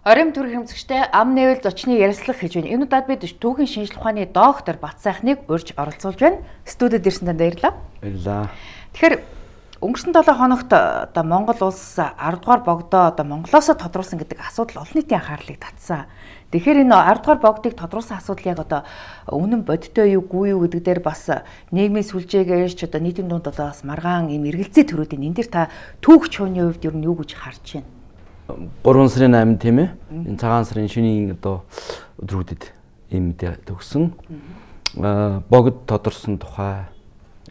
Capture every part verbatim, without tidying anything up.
Орим төр хэмжигчтэй ам нээвэл зочны ярилцлага хийж байна. Энэ удаад бид түүхийн шинжилгээ ухааны доктор Бат сайхныг урьж оролцуулж байна. Студид ирсэн танд баярлалаа. Баярлалаа. Тэгэхээр өнгөрсөн долоо хоногт одоо Монгол улс ард дугаар богдоо одоо Монголоос тодруулсан гэдэг асуудал олон нийтийн анхаарлыг татсан. Тэгэхээр энэ ард дугаар богдыг тодруулсан асуудал яг одоо үнэн бодиттой юу гүй юу гэдэг дээр бас нийгмийн сүлжээгээрч одоо нийтийн дунд одоо бас маргаан юм эргэлзээ төрүүдийн энэ дэр та түүх чууны хувьд ер нь юу гэж харж байна? гурван сарын eighth тийм ээ. Энэ цагаан сарын шөнийн одоо өдрүүдэд ийм мэдээ төгсөн. Аа богд тодорсон тухай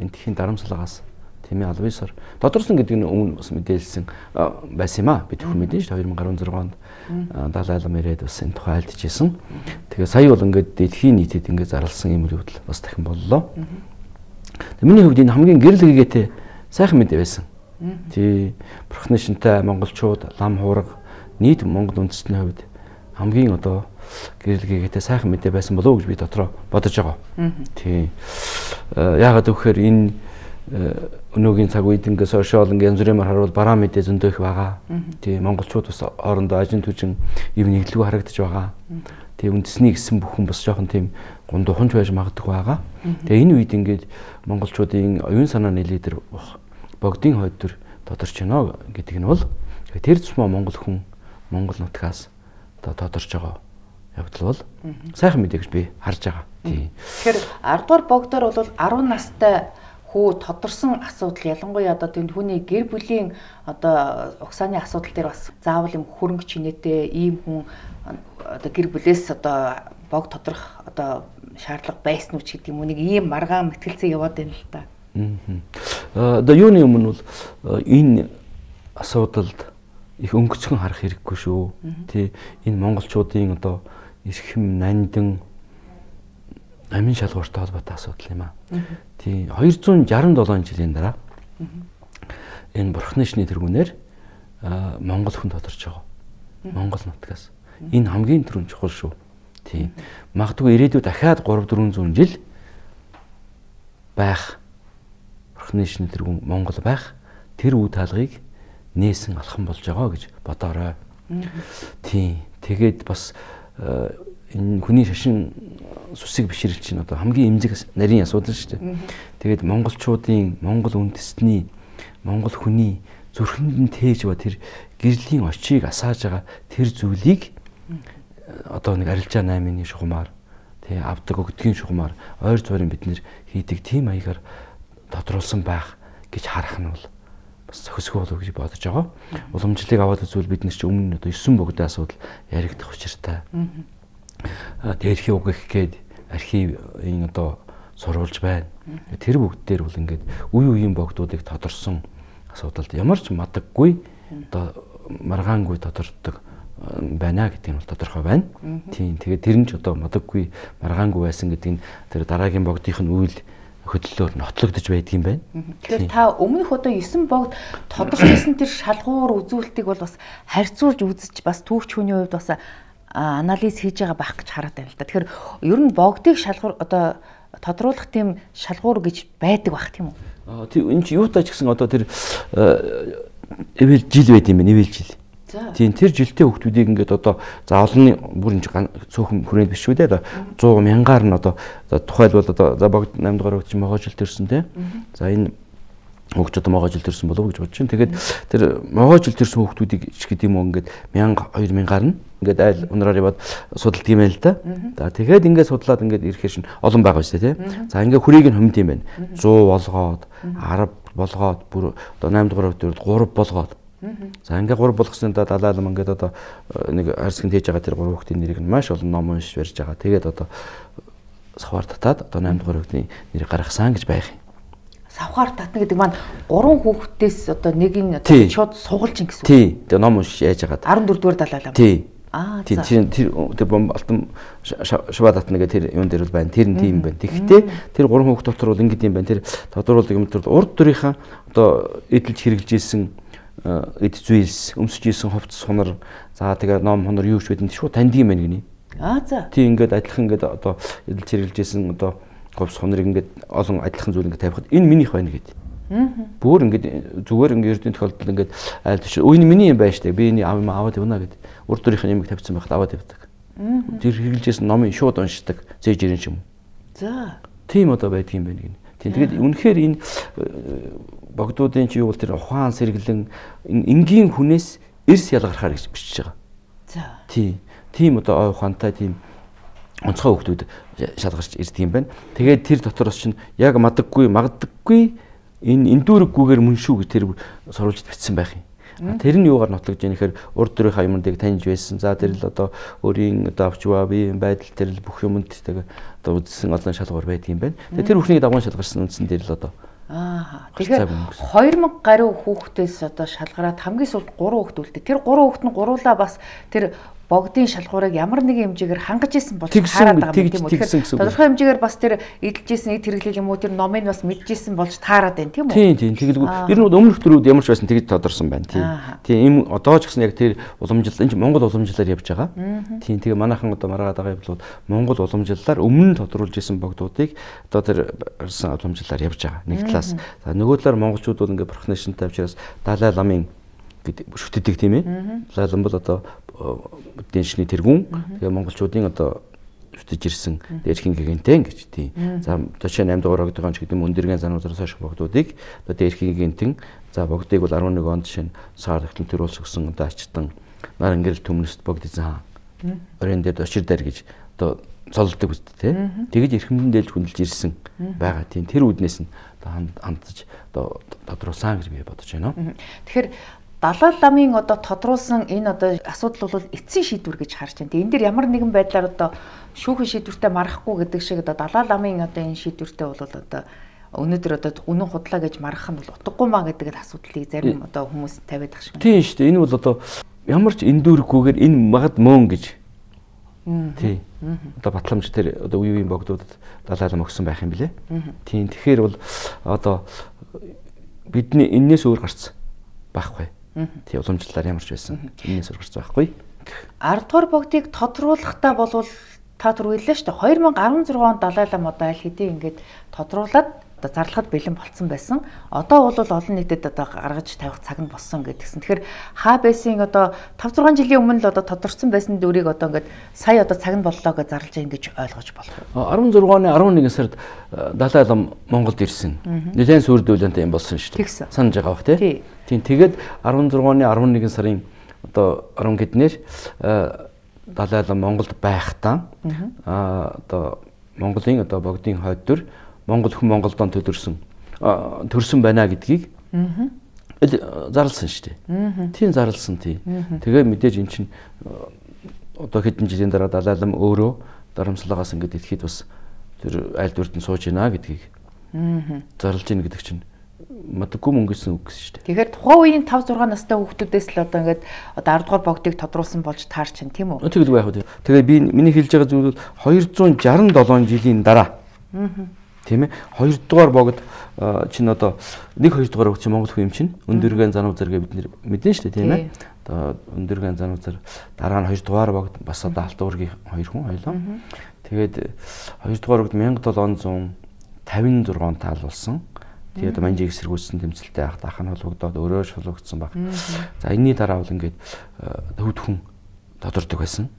энэ тхийн дарамтлагаас тийм ээ албан ёсоор тодорсон гэдэг нь өмнө бас мэдээлсэн байсан юм аа. Бид бүхэн мэдэн шүү two thousand sixteen онд Далай лам ирээд бас энэ тухай альдчихсэн. Тэгээ сая бол ингээд дэлхийн нийтэд ингээд зарласан юм үйл явдал бас дахин боллоо. Тэгээ миний хувьд энэ хамгийн гэрэл гэгээтэй сайхан мэдээ байсан. Тий бурхны шинтэй монголчууд лам хуурга нийт монгол үндэстний хувьд хамгийн одоо гэрэл гэгээтэй сайхан мэдээ байсан болов уу гэж би дотроо бодож байгаа. Тий яагаад гэвэл энэ өнөөгийн цаг үед ингээ сошиал ингээ янз бүрээр харуул бараа мэдээ зөндөө их байгаа. Тий монголчууд бас хоорондоо ажин түжин ив нэглүү харагдаж байгаа. Тий үндэсний гэсэн бүхэн бас жоохон тийм гундуханч байж магадгүй байгаа. Тэгээ энэ үед ингээд монголчуудын оюун санаа нэлээдэр богдын хойдор тодорч байна гэдэг нь бол тэр тусмаа монгол хүн монгол нутгаас одоо тодорч байгаа явдал бол сайхан мэдээ гэж би харж байгаа. Тий. Тэгэхээр ард дугаар богдоор бол ten настай хүү тодорсон асуудал ялангуяа одоо тэнд хүний гэр бүлийн одоо угсааны асуудал дээр бас заавал юм хөрөнгө чинээтэй ийм хүн одоо гэр бүлээс одоо бог тодрох одоо шаардлага байсан уу ч гэдэг юм уу нэг ийм маргаан мэтгэлцээ яваад байна л да. Одоо юуны өмнө бол энэ асуудалд их өнгөцгөн харах хэрэггүй шүү. Тэ энэ монголчуудын одоо эрхэм нандин амин шалгууртай холбоотой асуудал юм аа. Тий two hundred sixty-seven жилийн дараа энэ бурхны шний тэргүүнээр монгол хүн тодорч байгаа. Монгол нутгаас. Энэ хамгийн түрүүн чухал шүү. Тий магадгүй ирээдүйд дахиад three four hundred жил байх бурхны шний тэргүүн Монгол байх тэр үе таалгыг нээсэн алхам болж байгаа гэж бодоорой. Тий тэгээд бас энэ хүний шашин сүсийг бишрэлж чинь одоо хамгийн эмзэг нарийн асуудал шүү дээ. Тэгээд монголчуудын монгол үндэстний монгол хүний зүрхэнд нь тээж ба тэр гэрлийн очийг асааж байгаа тэр зүйлийг одоо нэг арилжаа наймын шугамар тий авдаг өгдгийн шугамар ойр зуурын бид нэр хийдэг тийм маягаар тодруулсан байх гэж харах нь бол бас зохисгүй болов гэж бодож байгаа. Уламжлалыг аваад үзвэл бид нар чи өмнө одоо nine богдын асуудал яригдах учиртай. Дээрхи уг их гээд архивын одоо сурвалж байна. Тэр бүгд дээр бол ингээд үе үеийн богдуудыг тодорсон асуудалд ямар ч мадаггүй одоо маргаангүй тодордог байна гэдэг нь бол тодорхой байна. Тийм тэгээд тэр нь ч одоо мадаггүй маргаангүй байсан гэдэг нь тэр дараагийн богдынх нь үйл хөдлөлөөр нотлогдож байдаг юм байна. Тэгэхээр та өмнөх одоо nine богд тодорхойлсон тэр шалгуур үзүүлэлтийг бол бас харьцуулж үзэж бас түүхч хүний хувьд бас анализ хийж байгаа байх гэж хараад байна л да. Тэгэхээр ер нь богдыг шалгуур одоо тодруулах тийм шалгуур гэж байдаг байх тийм үү? Аа тийм энэ чи юутай ч гэсэн одоо тэр эвэл жил байд юм байна, эвэл жил. Тийм тэр жилтэй хүмүүсийг ингээд одоо за олонний бүр энэ цөөхөн хүрээнд биш шүү дээ. one hundred мянгаар нь одоо тухайлбал одоо за богд eight дугаар өгч могоо жил төрсөн тий. За энэ хөгж одоо могоо жил төрсөн болов уу гэж бодож байна. Тэгээд тэр могоо жил төрсөн хүмүүсийг ч гэдэг юм уу ингээд one thousand two мянгаар нь ингээд айл унраар яваад судалдаг юм байна л да. За тэгээд ингээд судлаад ингээд ирэхээр шин олон байгаа шүү дээ тий. За ингээд хүрийг нь хомд юм байна. one hundred болгоод ten болгоод бүр одоо eight дугаар өгдөд three болгоод за ингээ гур болгосноо Далай лам ингээд одоо нэг харьцан тээж байгаа тэр гур хүүхдийн нэрийг нь маш олон ном уншиж барьж байгаа. Тэгээд одоо савхаар татаад одоо eight дугаар хүүхдийн нэрийг гаргасан гэж байх юм. Савхаар татна гэдэг маань гурван хүүхдээс одоо нэг нь одоо шууд сугалж ин гэсэн үг. Тий. Тэгээ ном уншиж яаж байгаа. fourteen дугаар Далай лам. Тий. Аа тэр тэр тэр бом алтан шаваа татна гэх тэр юун дээр бол байна. Тэр нь тийм байна. Тэгэхдээ тэр гурван хүүхд дотор бол ингэдэм юм байна. Тэр тодруулдаг юм дээр урд дөрийнхаа одоо эдэлж хэрэгжилж ийсэн эд зүйлс өмсөж ийсэн хувцс хонор за тэгээ ном хонор юу ч байдэн шууд танд юм байна гинэ. Аа за. Тий ингээд адилхан ингээд одоо эдэлж хэрэгжилж ийсэн одоо хувцс хонорыг ингээд олон адилхан зүйл ингээд тавихад энэ минийх байна гэдэг. Бүр ингээд зүгээр ингээд эрдэнэ тохиолдолд ингээд айл тийш үе нь миний юм байна штэ. Би энэ аваад явна гэд. Урд дөрийнх нь юм тавьсан байхад аваад явдаг. Тэр хэрэгжилжсэн номын шууд уншдаг. Зээж ирэн юм. За. Тийм одоо байдаг юм байна гин. Тийм тэгээд үнэхээр энэ богдуудын чи юу бол тэр ухаан сэргэлэн энгийн хүнээс эрс ялгархаар гэж бичиж байгаа. За. Тийм. Тийм одоо ой ухаантай тийм онцгой хүмүүс шалгарч ирдэг юм байна. Тэгээд тэр дотроос чинь яг мадаггүй, магдаггүй энэ эндүүрэггүйгээр мөн шүү гэж тэр сурвалжид бичсэн байх юм. Тэр нь юугаар нотлогдож яах гэхээр урд дөрийнхаа юмнуудыг таньж байсан. За тэр л одоо өөрийн одоо авчваа биеийн байдал тэр л бүх юмд тэгээ одоо үзсэн олон шалгуур байдаг юм байна. Тэгээд тэр бүхнийг дагуун шалгарсан үндсэн дээр л одоо Аа. Тэгэхээр хоёр мянга гаруй хүүхдээс одоо шалгараад хамгийн сүүлд гурван хүүхд үлдээ. Тэр гурван хүүхд нь гуруулаа бас тэр богдын шалгуурыг ямар нэгэн хэмжээгээр хангаж исэн болж таарад байгаа юм тийм үү? Тэгэхээр тодорхой хэмжээгээр бас тэр эдэлж исэн эд хэрэглэл юм уу тэр номыг бас мэдж исэн болж таарад байна тийм үү? Тийм тийм. Тэгэлгүй ер нь өмнөх төрүүд ямар ч байсан тэгж тодорсон байна тийм. Тийм им одоо ч гэсэн яг тэр уламжлал энэ Монгол уламжлалаар явж байгаа. Тийм тэгээ манайхан одоо маргаад байгаа юм бол Монгол уламжлалаар өмнө нь тодруулж исэн богдуудыг одоо тэр ирсэн уламжлалаар явж байгаа. Нэг талаас. За нөгөө талаар монголчууд бол ингээд профессионалтай учраас Далай ламын шүтдэг тийм ээ. Далай лам бол одоо эдийн засгийн тэргүүн тэгээ монголчуудын одоо шүтэж ирсэн дээрхийн гигэнтэй гэж тийм. За жишээ нь аймд дугаар огдгоон ч гэдэг юм өндөргийн зануудаас хойш богдуудыг одоо дээрхийн гигэнтэн за богдыг бол арван нэг онд жишээ нь саар ихтэн төрүүлс өгсөн одоо ачтан нар ингээл төмнөст богд эзэн хаан орон дээр очир дээр гэж одоо цолдог үст тий. Тэгэж эрхэмдэн дээлж хүндэлж ирсэн байгаа тийм. Тэр үднээс нь одоо хандж одоо тодруулсан гэж би бодож байна. Тэгэхээр Далай ламын одоо тодруулсан энэ одоо асуудал бол эцсийн шийдвэр гэж харж байна. Энэ дэр ямар нэгэн байдлаар одоо шүүхийн шийдвэртэй марахгүй гэдэг шиг одоо Далай ламын одоо энэ шийдвэртэй бол одоо өнөөдөр одоо үнэн худлаа гэж марах нь бол утгагүй маа гэдэг л асуудлыг зарим одоо хүмүүс тавиад байгаа шиг. Тийм шүү дээ. Энэ бол одоо ямар ч эндүүрэггүйгээр энэ магад мөн гэж. Тий. Одоо батламж тэр одоо үе үеийн богдуудад Далай лам өгсөн байх юм билэ. Тийм. Тэгэхээр бол одоо бидний энээс өөр гарц байхгүй. Тий уламжлалаар ямар ч байсан. Энээс өөр гарц байхгүй. ард дугаар богдыг тодруулахдаа болвол та түр хэллээ шүү дээ. хоёр мянга арван зургаан онд Далай лам одоо аль хэдийн ингээд тодруулаад одоо зарлахад бэлэн болцсон байсан. Одоо бол олон нийтэд одоо гаргаж тавих цаг нь болсон гэдгсэн. Тэгэхээр хаа байсан одоо тавь зургаан жилийн өмнө л одоо тодорцсон байсан дүрийг одоо ингээд сая одоо цаг нь боллоо гэж зарлаж байгаа ингэж ойлгож болох уу? арван зургааны арван нэгэн сард Далай лам Монголд ирсэн. Нэлээд сүрдүүлэнтэй юм болсон шүү дээ. Санаж байгаа бох тий. Тийм тэгээд арван зургааны арван нэгэн сарын одоо арван гэднэр Далай лам Монголд байхдаа аа одоо Монголын одоо богдын хойд төр Монгол хүн Монголдон төдөрсөн төрсөн байна гэдгийг зарласан шүү дээ. Тийм зарласан тий. Тэгээ мэдээж эн чинь одоо хэдэн жилийн дараа Далай лам өөрөө дарамслагаас ингээд идэхэд бас тэр аль дүртэн сууж байна гэдгийг зарлж ийн гэдэг чинь мадаггүй мөнгө гэсэн үг шүү дээ. Тэгэхээр тухайн үеийн тавь зургаан настай хүүхдүүдээс л одоо ингээд одоо ард дугаар богдыг тодруулсан болж таарч байна тийм үү? Тэгэл байх үү. Тэгээ би миний хэлж байгаа зүйл бол хоёр зуун шарсан долоон жилийн дараа. Тийм ээ. хоёр дугаар богд чинь одоо нэг хоёр дугаар богд чинь Монгол хүн юм чинь өндөргөн зануу зэрэг бид нэр мэдэн шүү дээ тийм ээ. Одоо өндөргөн зануу зэр дараа нь хоёр дугаар богд бас одоо алт уургийн хоёр хүн хоёлоо. Тэгээд хоёр дугаар богд мянга долоон зуун тавин зургаан таал болсон. Тэгээд манжиг эсэргүүцсэн тэмцэлтэй ахт ах нь холбогдоод өөрөө шулугдсан баг. За энэний дараа бол ингээд төвд хүн тодордог байсан.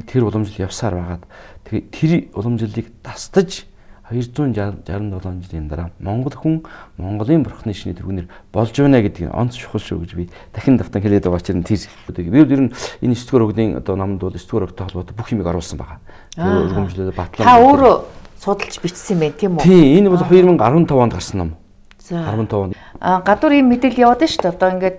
Тэр уламжлал явсаар байгаад тэгээд тэр уламжлалыг тасдаж хоёр зуун шарсан долоон жилийн дараа Монгол хүн Монголын бурхны шинэ тэргүүнээр болж байна гэдгийг онц чухал шүү гэж би дахин давтан хэлээд байгаа чинь тэр. Би ер нь энэ эсдгээр өгдийн одоо номд бол эсдгээр өгтэй холбоотой бүх юмыг оруулсан байгаа. Тэр өргөмжлөлөө батлаа. Та өөрөө судалж бичсэн байх тийм үү? Тийм, энэ бол хоёр мянга арван тавд онд гарсан ном. арван тавд. А гадуур ийм мэдээлэл яваад шүү дээ. Одоо ингээд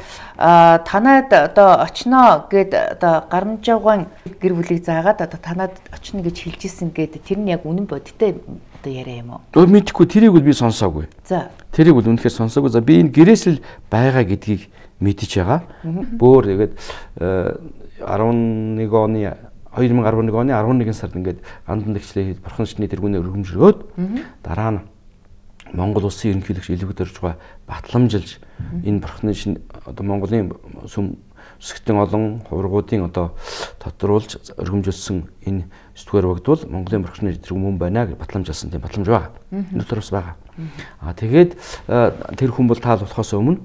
танад одоо очно гэд одоо Гарамжавгаан гэр бүлийг заагаад одоо танад очно гэж хэлж исэн гэд тэр нь яг үнэн бодиттой одоо яриа юм уу? Өө мэдхгүй тэрийг бол би сонсоогүй. За. Тэрийг бол үнэхээр сонсоогүй. За би энэ гэрээс л байгаа гэдгийг мэдэж байгаа. Бөөр тэгээд арван нэг оны хоёр мянга арван нэг оны арван нэгэн сард ингээд гандан дэгчлээ бурхан шний тэргүүнээ өргөмжлөөд дараа нь Монгол улсын ерөнхийлөгч Илвэг Доржгой батламжилж энэ бурхны шин одоо Монголын сүм өсгтэн олон хувиргуудын одоо тодруулж өргөмжилсөн энэ сэтгүүр богд бол Монголын бурхан тэргүүн мөн байна гэж батламжуулсан тийм батламж байгаа. Өнөөдөр бас байгаа. Аа тэгээд тэр хүн бол таалуулахаас өмнө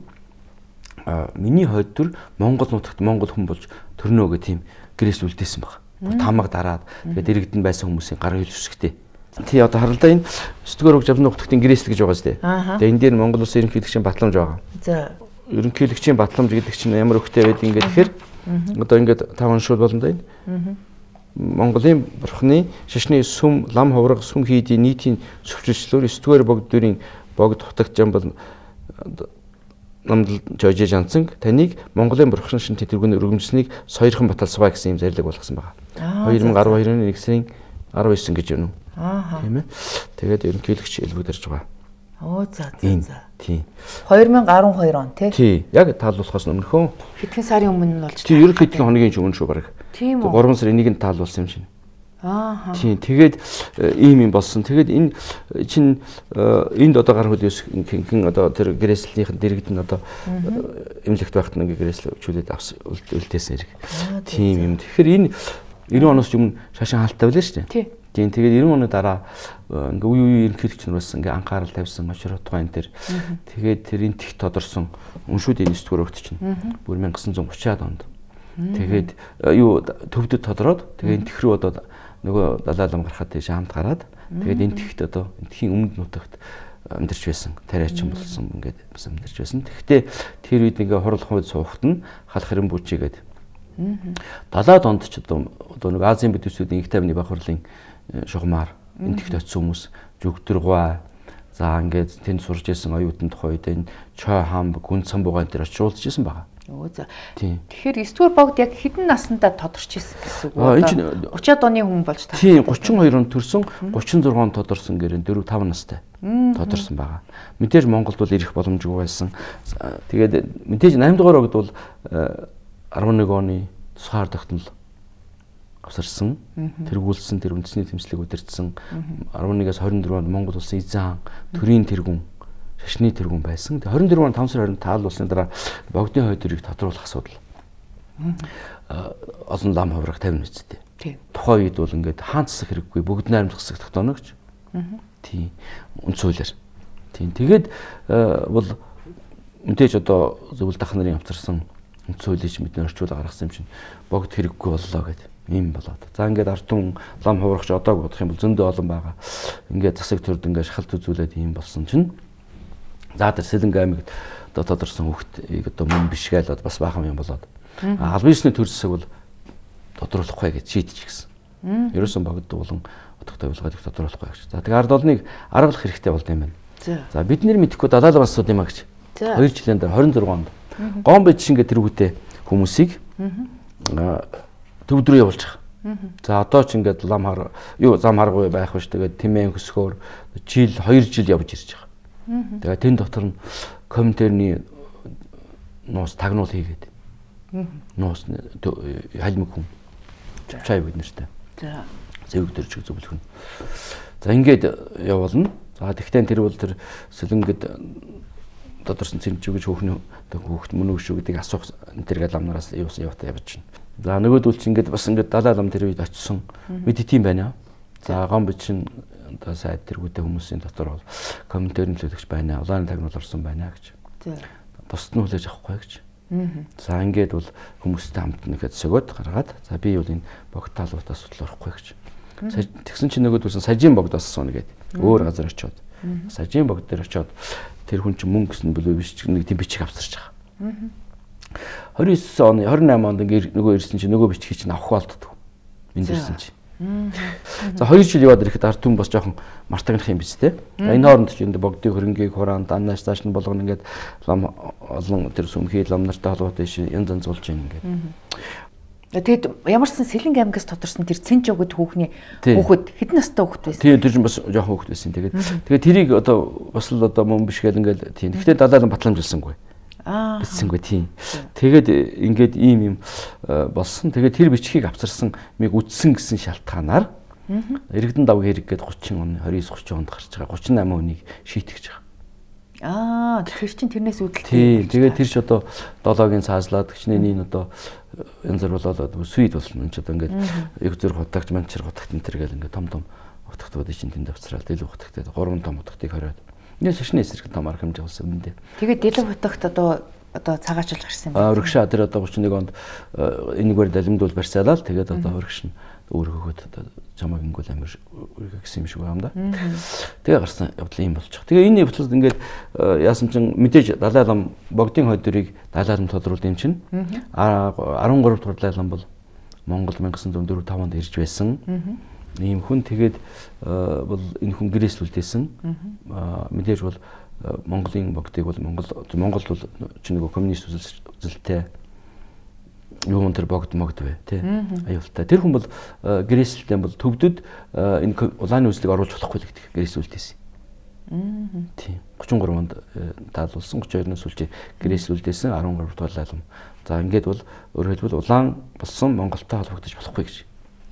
миний хойд төр Монгол нутагт Монгол хүн болж төрнө гэх тийм гэрээс үлдээсэн баг. Тамаг дараад тэгээд иргэдэн байсан хүмүүсийн гар хэл үсгтэй. Тий одоо харалдаа энэ сэтгүүр богд авны нутагтын гэрээс гэж байгаа зү. Тэгээд энэ дээр Монгол улсын ерөнхийлөгчийн батламж байгаа. За ерөнхийлөгчийн батламж гэдэг чинь ямар өгтэй байдгийг ингээд тэгэхээр одоо ингээд тав оншуул болно да энэ. Монголын бурхны шашны сүм лам хувраг сүм хийдийн нийтийн зөвчлөлөөр сэтгүүр богддын богд хутагчаан бол намдал жожиж анцан таныг Монголын бурхан шин тэтгэврийн өргөмжсөнийг соёрхон баталсаваа гэсэн юм зарлиг болгосон байна. две тысячи двадцать two оны нэг сарын дөрвөн гэж байна уу? Аа. Тийм ээ. Тэгээд ерөнхийлөгч элбэгдэрж байгаа. Оо за за за. Тийм. две тысячи twelve он тий. Тий. Яг таалуулахаас өмнөхөө. Хэдхэн сарын өмнө нь болж тий, ерөнх хэдхэн хоногийн өмнө шүү баг. Тийм үү. гурван сарын нэгнд таалуулсан юм шиг. Аа. Тийм. Тэгээд ийм юм болсон. Тэгээд энэ чинь энд одоо гар хөлөөс хин одоо тэр гэрээслийнхэн дэрэгд нь одоо эмнэлэгт байхад нэг гэрээсл өчүүлээд авсан үлдээсэн хэрэг. Тийм юм. Тэгэхээр энэ ninety оноос өмнө шашин хаалттай байлаа шүү дээ. Тий. Тийм. Тэгээд ninety оны дараа ингээ үе үе ерөнхийлөгч нар бас ингээ анхаарал тавьсан очроо тухайн дээр. Тэгээд тэр энэ тех тодорсон өншүүдийн сэтгүүр өгч чинь бүр nineteen thirty-аад онд. Тэгээд юу төвдөд тодороод тэгээд энэ тех рүү одоо нөгөө далай лам гарахад тийш хамт гараад тэгээд энэ техт одоо энтхийн өмнөд нутагт амьдарч байсан. Тариачин болсон ингээд бас амьдарч байсан. Тэгэхдээ тэр үед ингээ хурал хувьд суухт нь халах хэрэм бүжигээд далайд онд ч одоо одоо нэг Азийн бүдүүсүүдийн их тайвны баг хурлын шугамар энэ техт очсон хүмүүс жүгдэргуй за ингээд тэнд сурж исэн оюутан тухайд энэ чой хам гүн цамбуугаан дээр очиулж исэн байгаа. Өө за. Тэгэхээр сэтгүүр богд яг хэдэн наснда тодорч исэн гэсэн үг үү? Энэ чинь thirty-аад оны хүн болж таа. Тийм thirty-two онд төрсөн thirty-six онд тодорсон гэрэн four five настай тодорсон байгаа. Мэдээж Монголд бол ирэх боломжгүй байсан. Тэгээд мэдээж eight дугаар огд бол eleven оны тусгаар тогтнол авсарсан, тэргүүлсэн, тэр үндэсний тэмцлийг удирдсан eleven-ээс twenty-four онд Монгол улсын эзэн хаан төрийн тэргүүн шашны тэргүүн байсан. twenty-four он five сарын таалуулсны дараа богдны хойдорыг тодруулах асуудал. Олон лам хувраг тавина үсттэй. Тийм. Тухайн үед бол ингээд хаан засах хэрэггүй бүгд найрамдах засах тогтооно гэж. Тийм. Үнд суулаар. Тийм. Тэгээд бол мэдээж одоо зөвлөлт ах нарын авчирсан үнд суулж мэднэ орчуулга гаргасан юм чинь богд хэрэггүй боллоо гэдэг юм болоод. За ингээд артун лам хуврагч одоог бодох юм бол зөндөө олон байгаа. Ингээд засаг төрд ингээд шахалт үзүүлээд юм болсон чинь за тэр Сэлэнг аймагт одоо тодорсон хүүхдийг одоо мөн биш гээл бас баахан юм болоод албан ёсны төр засаг бол тодруулахгүй гэж шийдчихсэн. Ерөөсөн богд болон утгатай явуулгыг тодруулахгүй гэж. За тэгээ ард олныг аргалах хэрэгтэй болд юм байна. За бид нэр мэдэхгүй далайлан асууд юм а гэж. two жилийн дараа twenty-six онд гон бич ингээд тэр хүүтэй хүмүүсийг төвд рүү явуулж байгаа. За одоо ч ингээд лам хар юу зам харгүй байх биш тэгээд тэмээн хөсгөөр жил two жил явж ирж байгаа. Тэгээд тэн дотор нь комментэрний нуус тагнуул хийгээд. Нуус халимг хүн. Чай бид нартай. За зэвэг дөржиг зөвлөх нь. За ингээд явуулна. За тэгтээ тэр бол тэр Сэлэнгэд тодорсон цэнч гэж хөөхний хөөхт мөн үү шүү гэдгийг асуух энэ тэр ламнараас юусан явтаа явж байна. За нөгөөдөл чи ингээд бас ингээд далай лам тэр үед очсон. Бид тийм байна. За гон бичин одоо сайд тэргүүтэй хүмүүсийн дотор бол комментэр нөлөөлөгч байна. Улааны тагнуул орсон байна гэж. Бусд нь хүлээж авахгүй гэж. За ингээд бол хүмүүстэй хамт нэхэд сөгөөд гаргаад за би бол энэ богд таалуудаас судлахгүй гэж. Тэгсэн чинь нөгөөдөөс сажийн богдоос суна гэдэг. Өөр газар очиод. Сажийн богд дээр очиод тэр хүн чинь мөнгө гэсэн болов биш нэг тийм бичиг авсарч байгаа. twenty-nine оны twenty-eight онд ингээд нөгөө ирсэн чинь нөгөө бичгийг чинь авах болддог. Энд ирсэн чинь. За two жил яваад ирэхэд ард түмэн бас жоохон мартагнах юм биз дээ. Энэ хооронд ч энэ богдын хөрөнгийг хураан даннаас цааш нь болгоно ингээд лам олон тэр сүмхий лам нартай холбоотой шин янз янз болж байна ингээд. Тэгэд ямарсан Сэлэнг аймагаас тодорсон тэр Цэнж өгд хүүхний хүүхэд хэдэн настай хүүхэд байсан? Тийм тэр чинь бас жоохон хүүхэд байсан. Тэгээд тэгээд тэрийг одоо бас л одоо мөн биш гэл ингээд тийм. Гэхдээ далайлан батламжилсангүй. Аа. Бисэнгүй тийм. Тэгээд ингээд ийм юм болсон. Тэгээд тэр бичгийг авчирсан миг үдсэн гэсэн шалтгаанаар Иргэдэн давг хэрэг гээд thirty он twenty-nine thirty онд гарч байгаа thirty-eight хүнийг шийтгэж байгаа. Аа тэр чинь тэрнээс үүдэлтэй. Тий, тэгээд тэр ч одоо долоогийн цааслаад гчнэний одоо янз бүр болоод сүйд болно. Энд ч одоо ингээд яг зэрэг хутагч манчир хутагт энэ төр гэл ингээд том том хутагтууд чинь тэнд авцраал дэлгүү хутагтай гурван том хутагтыг хориод. Энэ шашны эсрэг том арга хэмжээ болсон юм дээ. Тэгээд дэлгүү хутагт одоо одоо цагаачилж гарсан юм байна. Аа урагшаа тэр одоо гурван нэг онд энэгээр далимдуул барьсаалал тэгээд одоо урагш нь өөргөөхөд одоо чамаг ингүүл амир үргэ гэсэн юм шиг байгаа юм да. Тэгээ гарсан явдал юм болж байгаа. Тэгээ энэ явдлууд ингээд яасан чин мэдээж Далай лам богдын хойдурыг Далай лам тодруулд юм чин. арван гурав дахь Далай лам бол Монгол мянга девятьсот дөрөв тавд онд ирж байсан. Ийм хүн тэгээд бол энэ хүн гэрээслүүлдээсэн. Мэдээж бол Монголын богдыг бол Монгол Монгол бол чи нөгөө коммунист үзэлтэй юун тэр богд могд вэ тий аюултай. Тэр хүн бол гэрээсэлтэй бол төвдөд энэ улааны үзлийг оруулж болохгүй л гэдэг гэрээсүүлдээсэн. Тийм гурван гурав онд таалуулсан гурван хоёрын сүүлчээ гэрээсүүлдээсэн арван гурав дахь лайлам. За ингээд бол өөрөөр хэлбэл улаан болсон Монголтой холбогдож болохгүй гэж.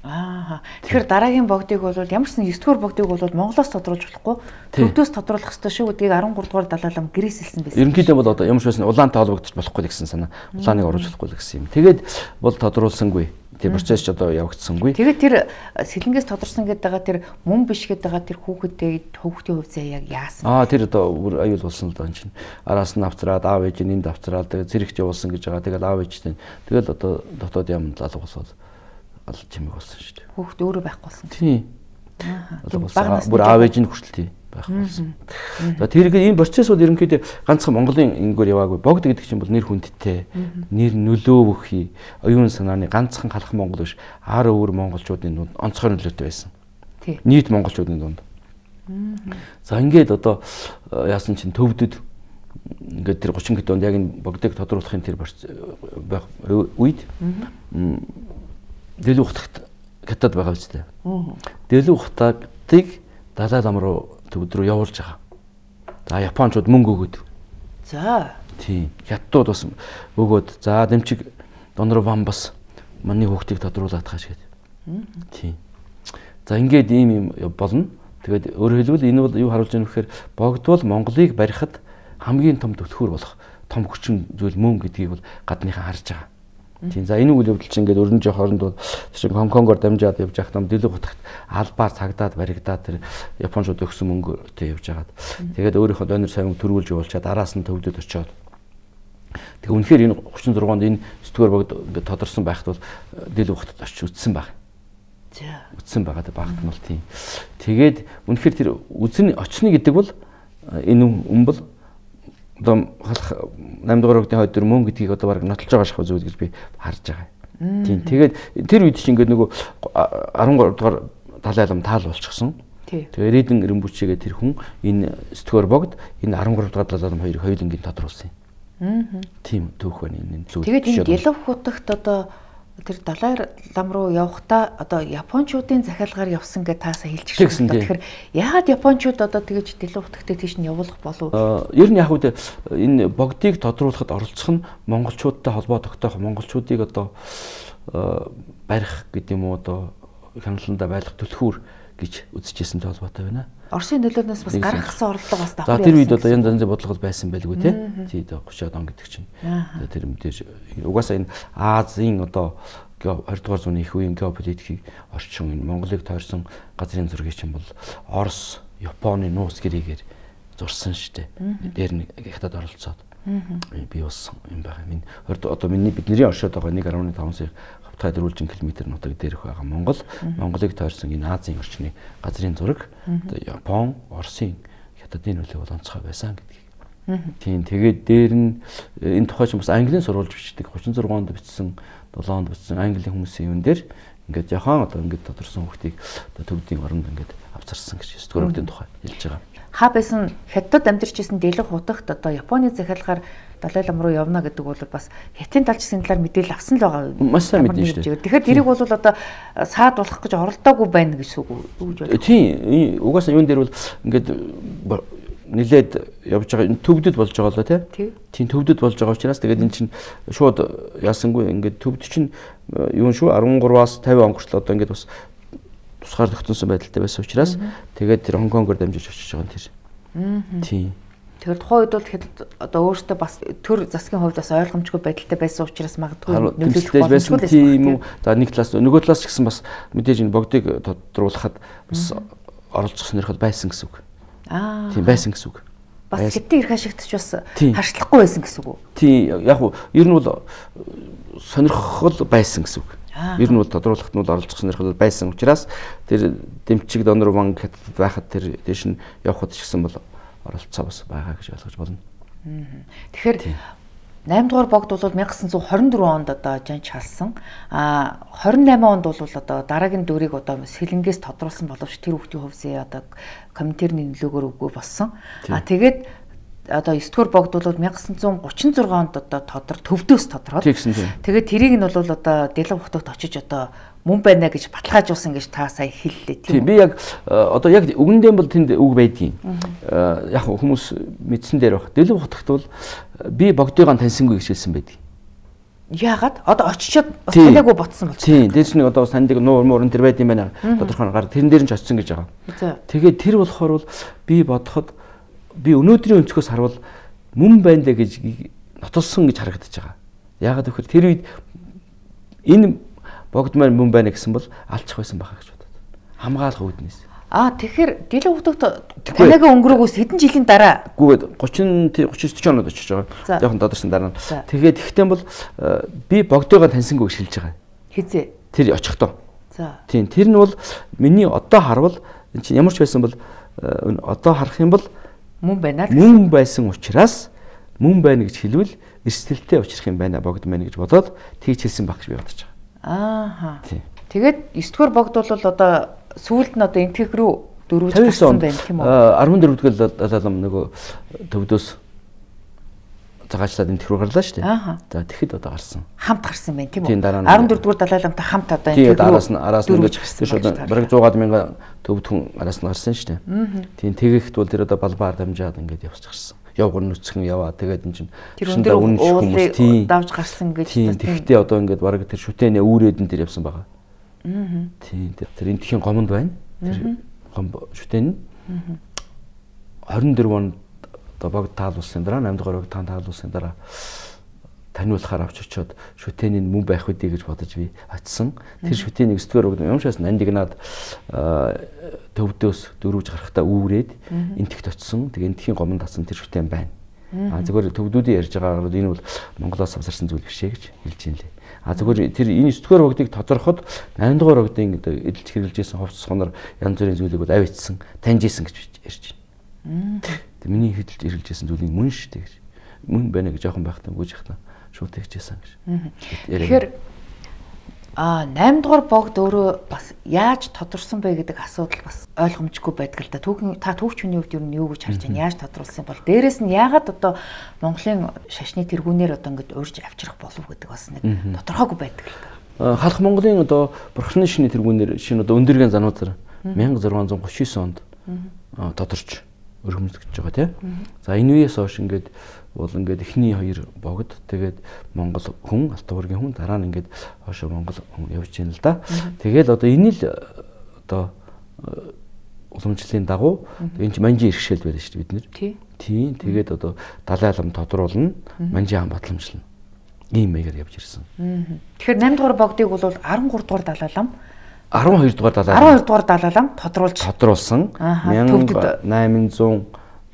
Аа. Тэгэхээр дараагийн богдыг бол ямар ч нэгдүгээр богдыг бол Монголоос тодруулж болохгүй. Төвдөөс тодруулах ёстой шүү гэдгийг арван гурав дахь Далай лам гэрээсэлсэн байсан. Ерөнхийдөө бол одоо ямар ч байсан улаантай холбогдож болохгүй гэсэн санаа. Улааныг оруулж болохгүй гэсэн юм. Тэгээд бол тодруулсангүй. Тэр процесс ч одоо явагдсангүй. Тэгээд тэр сэлэнгээс тодорсон гэдэг байгаа тэр мөн биш гэдэг байгаа тэр хүүхэдтэй хүүхдийн хувь заяа яг яасан. Аа тэр одоо бүр аюул болсон л даа чинь. Араас нь авцраад аав ээж нь энд авцраад тэгээд зэрэгч явуулсан гэж байгаа. Тэгээд аав ээжтэй. Тэгэл одоо дотоод ямд алга болоод алж чимэг болсон шүү дээ. Хүүхд өөрөө байхгүй болсон. Тийм. Аа. Бүр аав ээж нь хүртэл тийм байх болсон. За тэр энэ процессууд ерөнхийдөө ганцхан Монголын ингэгээр яваагүй. Богд гэдэг чинь бол нэр хүндтэй, нэр нөлөө бүхий, оюун санааны ганцхан халах Монгол биш, ар өөр монголчуудын дунд онцгой нөлөөтэй байсан. Нийт монголчуудын дунд. За ингээд одоо яасан чинь төвдөд ингээд тэр гурван хэд онд яг энэ богдыг тодруулахын тэр байх үед дэлгүү хутагт хятад байгаа үстэй. Дэлгүү хутагтыг Далай лам руу төвд рүү явуулж байгаа. За Япончууд мөнгө өгөөд. За. Тийм. Хятадууд бас өгөөд. За дэмчиг Донор Ван бас манай хүүхдийг тодруулаад тааш гээд. Тийм. За ингээд ийм юм болно. Тэгээд өөрөөр хэлбэл энэ бол юу харуулж байгаа вэ гэхээр богдвол Монголыг барихад хамгийн том түлхүүр болох том хүчин зүйл мөн гэдгийг бол гадныхан харж байгаа. Тийм. За энэ үйл явдал чинь ингээд өрнөж хооронд бол чинь Гонконгоор дамжаад явж байгаа юм дэлгүү хутагт албаар цагдаад баригдаад тэр Японууд өгсөн мөнгөтэй явж байгаад. Тэгээд өөрийнхөө донор сайн төрүүлж явуулчаад араас нь төвдөд очиод. Тэг үнэхээр энэ гурван зурганд энэ сэтгүүр богд ингээд тодорсон байхад бол дэлгүү хутагт очиж үтсэн баг. За. Үтсэн байгаа багт нь бол тийм. Тэгээд үнэхээр тэр үзэн очно гэдэг бол энэ юм бол одоо халах наймд дугаар богдын хойд дөр мөн гэдгийг одоо баг нотолж байгаа шахав зүйл гэж би харж байгаа. Тийм. Тэгээд тэр үед чинь ингээд нөгөө арван гурав дугаар Далай лам таал болчихсон. Тэгээд Редэн Ирэмбүчигээ тэр хүн энэ сэтгүүр богд энэ арван гурав дугаар Далай лам хоёрыг хоёулангийн тодруулсан юм. Тийм түүх байна энэ зүйл. Тэгээд энэ Дэлгүү хутагт одоо тэр Далай лам руу явахдаа одоо Япончуудын захиалгаар явсан гэж таасаа хэлж гисэн. Тэгэхээр яагаад Япончууд одоо тэгэж Дэлгүү хутагтаа тийш нь явуулах болов? Ер нь яг үгүй энэ богдыг тодруулахад оролцох нь монголчуудтай холбоо тогтоох, монголчуудыг одоо барих гэдэг юм уу одоо хяналтанда байлгах түлхүүр гэж үзэжсэнтэй холбоотой байна. Оросын нөлөөнөөс бас гаргасан орлого бас давхар. За тэр үед одоо янз янзын бодлого байсан байлгүй тий. Тий гуйчаад он гэдэг чинь. Тэр мэдээж угаасаа энэ Азийн одоо двадцать дугаар зууны их үеийн геополитикийг орчин энэ Монголыг тойрсон газрын зургийг чинь бол Орос, Японы нуус гэрээгээр зурсан штэ. Дээр нэг хятад оролцоод би болсон юм байна. Минь одоо миний бидний оршоод байгаа нэг гаруй таван сая хавтгай дөрвөлжин километр нутаг дээрх байгаа Монгол, Монголыг тойрсон энэ Азийн орчны газрын зураг Япон, Оросын хятадын нөлөө бол онцгой байсан гэдгийг. Тийм тэгээд дээр нь энэ тухай ч бас английн сурвалж бичдэг гурван зурган онд бичсэн, долоон онд бичсэн английн хүмүүсийн юм дээр ингээд яхан одоо ингээд тодорсон хүүхдийг одоо төвдийн оронд ингээд авцарсан гэж сэтгүүрийн тухай хэлж байгаа. Хаа байсан хятад амьдарч исэн Дэлгүү хутагт одоо Японы захиалгаар Далай лам руу явна гэдэг бол бас хятадын талчсан талаар мэдээлэл авсан л байгаа. Маш сайн мэдэн шүү дээ. Тэгэхээр тэрийг бол одоо саад болох гэж оролдоогүй байна гэж үг үү? Тийм. Угаасаа юун дээр бол ингээд нилээд явж байгаа энэ төвдөд болж байгаа лоо тий. Тийм төвдөд болж байгаа учраас тэгээд эн чинь шууд яасангүй ингээд төвд чинь юун шүү арван гураваас тавин он хүртэл одоо ингээд бас тусгаар тогтносон байдалтай байсан учраас тэгээд тэр Хонконгоор дамжиж очиж байгаа юм тэр. Тийм. Тэгэхээр тухайн үед бол тэгэхэд одоо өөртөө бас төр засгийн хувьд бас ойлгомжгүй байдалтай байсан учраас магадгүй нөлөөлөх боломжгүй байсан юм уу? За нэг талаас нөгөө талаас ч гэсэн бас мэдээж энэ богдыг тодруулахад бас оролцох сонирхол байсан гэсэн үг. Аа. Тийм байсан гэсэн үг. Бас хятадын эрх ашигтч бас харьцлахгүй байсан гэсэн үг үү? Тийм яг уу ер нь бол сонирхол байсан гэсэн үг. Ер нь бол тодруулахад нь бол оролцох сонирхол байсан учраас тэр дэмчиг донор банк хятад байхад тэр дэш нь явхад ч гэсэн бол оролцоо бас байгаа гэж ойлгож болно. Тэгэхээр наймд дугаар богд бол найман девятьсот двадцать четыре онд одоо жанж халсан. А двадцать восемь онд бол одоо дараагийн дүрийг одоо сэлэнгээс тодруулсан боловч тэр хүүхдийн хувьсээ одоо комментэрний нөлөөгөөр үгүй болсон. А тэгээд одоо девять дугаар богд бол найман девятьсот тридцать шесть онд одоо тодор төвдөөс тодроод. Тэгээд тэрийг нь бол одоо Дэлэг хотод очиж одоо мөн байна гэж баталгаажуулсан гэж та сая хэллээ тийм. Би яг одоо яг үгэндээ бол тэнд үг байдгийн. Яг хүмүүс мэдсэн дээр баг. Дэлэг хотогт бол би богдыгаа таньсангүй гэж хэлсэн байдаг. Яагаад? Одоо очичоод бас танаагүй ботсон болж байна. Тийм. Дээш нэг одоо бас тандыг нуур муурн тэр байд юм байна. Тодорхой гар тэрэн дээр нь ч очсон гэж байгаа. Тэгээд тэр болохоор бол би бодоход би өнөөдрийн өнцгөөс харвал мөн байна дэ гэж нотолсон гэж харагдаж байгаа. Яагаад гэвэл тэр үед энэ богд маань мөн байна гэсэн бол алчих байсан байхаа гэж бодод. Хамгаалах үүднээс. Аа тэгэхээр Дэлэг хотод танайгаа өнгөрөөгөөс хэдэн жилийн дараа гүйгээд тридцать тридцать девять онод очиж байгаа. Жохон додорсон дараа нь. Тэгээд ихтэй бол би богдойгоо таньсангүй гэж хэлж байгаа. Хизээ. Тэр очихдоо. За. Тийм тэр нь бол миний одоо харвал энэ чинь ямар ч байсан бол одоо харах юм бол мөн байна гэсэн. Мөн байсан учраас мөн байна гэж хэлвэл эрсдэлтэй учрах юм байна богд байна гэж бодоод тэгж хэлсэн баг гэж би бодож байгаа. Ааха. Тэгээд девять дугаар богд бол одоо сүүлд нь одоо энтэг рүү дөрвөж гарсан байна тийм үү? арван дөрөвдүгээр далаалам нөгөө төвдөөс цагаачлаад энтэг рүү гарлаа шүү дээ. За тэгэхэд одоо гарсан. Хамт гарсан байна тийм үү? арван дөрөвдүгээр далааламтай хамт одоо энтэг рүү араас нь араас нь ингээд бараг сто мянган төвд хүн араас нь гарсан шүү дээ. Тийм тэгэхэд бол тэр одоо балбаар дамжаад ингээд явж гарсан. Явгар нүцгэн яваа тэгээд энэ чинь тэр өндөр уулыг давж гарсан гэж тийм тэгтээ одоо ингээд бараг тэр шүтэнэ үүрээд нь тэр явсан байгаа. Аа. Тийм тэр энтхийн гомонд байна. Тэр гом шүтэн. двадцать четыре онд одоо богд таалуулсан дараа наймд дугаар богд таалуулсан дараа таниулахаар авч очиод шүтэний мөн байх үдий гэж бодож би очисон. Тэр шүтэнийг девять дугаар богд юмшаас нандигнаад төвдөөс дөрвөж гарахтаа үүрээд энтэгт очисон. Тэгээ энтхийн гомонд татсан тэр шүтэн байна. А зөвхөн төвдүүдийн ярьж байгаагаар энэ бол Монголоос авсарсан зүйл биш ээ гэж хэлж юм лээ. А зөвхөн тэр энэ девять дугаар богдыг тодорхойд восемь дугаар богдын эдэлж хэрэгжилж байсан хувцас хонор янз бүрийн зүйлийг бол авицсан, таньжсэн гэж ярьж байна. Тэг миний хэдэлж хэрэгжилж байсан зүйлийг мөн шүү дээ гэж. Мөн байна гэж жоохон байхтаа гүйж яхтаа шууд тэгжсэн гэж. Тэгэхээр а восемь дугаар богд өөрөө бас яаж тодорсон бэ гэдэг асуудал бас ойлгомжгүй байдаг л да. Түүхэн та түүхч хүний хувьд юу нь юу гэж харж байна? Яаж тодруулсан бол дээрэс нь яагаад одоо Монголын шашны тэргүүнээр одоо ингэж урьж авчрах болов гэдэг бас нэг тодорхойгүй байдаг л да. Халах Монголын одоо бурхны шашны тэргүүнээр шинэ одоо өндөргийн зануузар 천sáu гуйж девять онд тодорч өргөмсгөж байгаа тийм. За энэ үеэс хойш ингээд бол ингээд эхний хоёр богд тэгээд Монгол хүн Алтан уургийн хүн дараа нь ингээд хойшоо Монгол хүн явж байна л да. Тэгээд одоо энэ л одоо уламжлалын дагуу энэ ч манжийн иргэшэл байдаг шүү дээ бид нэр. Тийм. Тэгээд одоо далай алам тодруулна, манжийн хаан батламжлна. Ийм маягаар явж ирсэн. Тэгэхээр восемь дугаар богдыг бол13 дугаар далайлам арван хоёр дугаар далайлам арван хоёр дугаар далайлам тодруулж тодруулсан. 천eight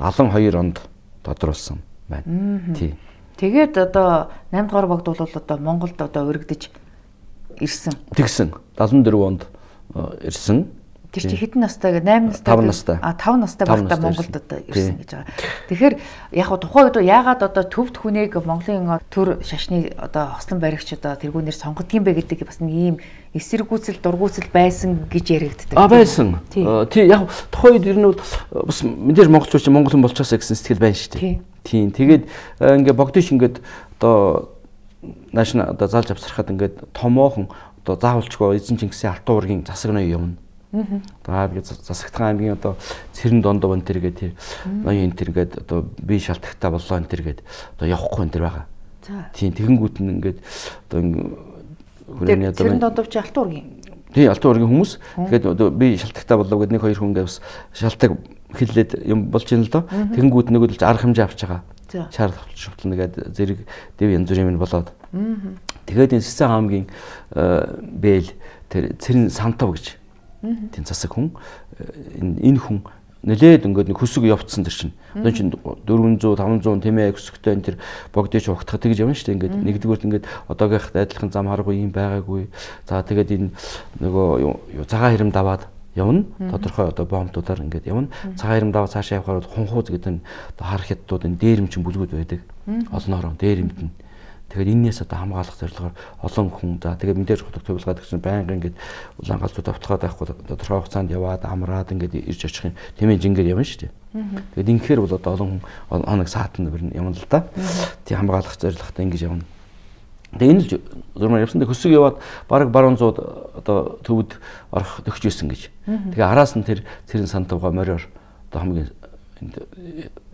seventy two онд тодруулсан байна. Тий. Тэгээд одоо восемь дугаар богд бол одоо Монголд одоо өргөдөж ирсэн. Тэгсэн. seventy four онд ирсэн. Тэр чи хэдэн настай гэ eight настай. А five настай байхдаа Монголд одоо ирсэн гэж байгаа. Тэгэхээр яг хуу тухайн үед яагаад одоо төвд хүнийг Монголын төр шашны одоо хослон баригч одоо тэргүүнээр сонгодгийм бэ гэдэг бас нэг ийм эсэргүүцэл дургүйцэл байсан гэж яригддаг. А байсан. Тий яг тухайн үед ер нь бас мэдээж монголчууд чинь монгол хүн болчихосоо гэсэн сэтгэл байна шүү дээ. Тийм. Тэгээд ингээ богдиш ингээд одоо наашна одоо заалж авсрахад ингээд томоохон одоо заавалчгүй эзэн Чингисийн Алтан уургийн засаг ноён явна. Аа би засагтхан аймгийн одоо Цэрэн дондоо энэ төр гэдэг ноён энэ төр гэдэг одоо би шалтгатаа боллоо энэ төр гэдэг одоо явахгүй энэ төр байгаа. Тийм тэгэнгүүт нь ингээд одоо хүрээний одоо Цэрэн дондоо чи Алтан уургийн. Тий Алтан уургийн хүмүүс тэгээд одоо би шалтгатаа боллоо гэдэг нэг хоёр хүн ингээд бас шалтгаан хэллээд юм болж ийн л доо. Тэгэнгүүт нөгөө л арга хэмжээ авч байгаа. Шаар шувтал нэгээд зэрэг дэв янз бүрийн юм болоод. Тэгээд энэ Сэцэн хаамгийн бэл тэр Цэрэн Сантав гэж тийм засаг хүн энэ хүн нэлээд ингээд нэг хөсөг явцсан тэр чинь. Одоо чинь дөрвөн зуун таван зуун тийм ээ хөсөгтэй энэ тэр богдож ухтах тэгж явна шүү дээ. Ингээд нэгдүгürt ингээд одоогийнх адилхан зам харахгүй юм байгаагүй. За тэгээд энэ нөгөө цагаан хэрэм даваад явна. Тодорхой одоо бомбуудаар ингээд явна. Цагаан хэрэм даваад цаашаа явхаар хунхууз гэдэг нь одоо хар хятадууд энэ дээрэмчин бүлгүүд байдаг. Олноороо дээрэмтэн. Тэгээд энээс одоо хамгаалах зорилгоор олон хүн за тэгээд мэдээж хотог төвлөгөөд гэсэн байнга ингээд улаан галзууд автгаад байхгүй тодорхой хугацаанд яваад амраад ингээд ирж очих юм тэмээ жингээр явна шүү дээ. Тэгээд инхээр бол одоо олон хүн хоног саатан явна л да. Тий хамгаалах зорилготой ингэж явна. Тэгээд энэ л зурмаар явсан. Тэгээд хөсөг яваад бараг баруун зууд одоо төвд орох төгч байсан гэж. Тэгээд араас нь тэр Цэрэн Сантавга мориор одоо хамгийн энд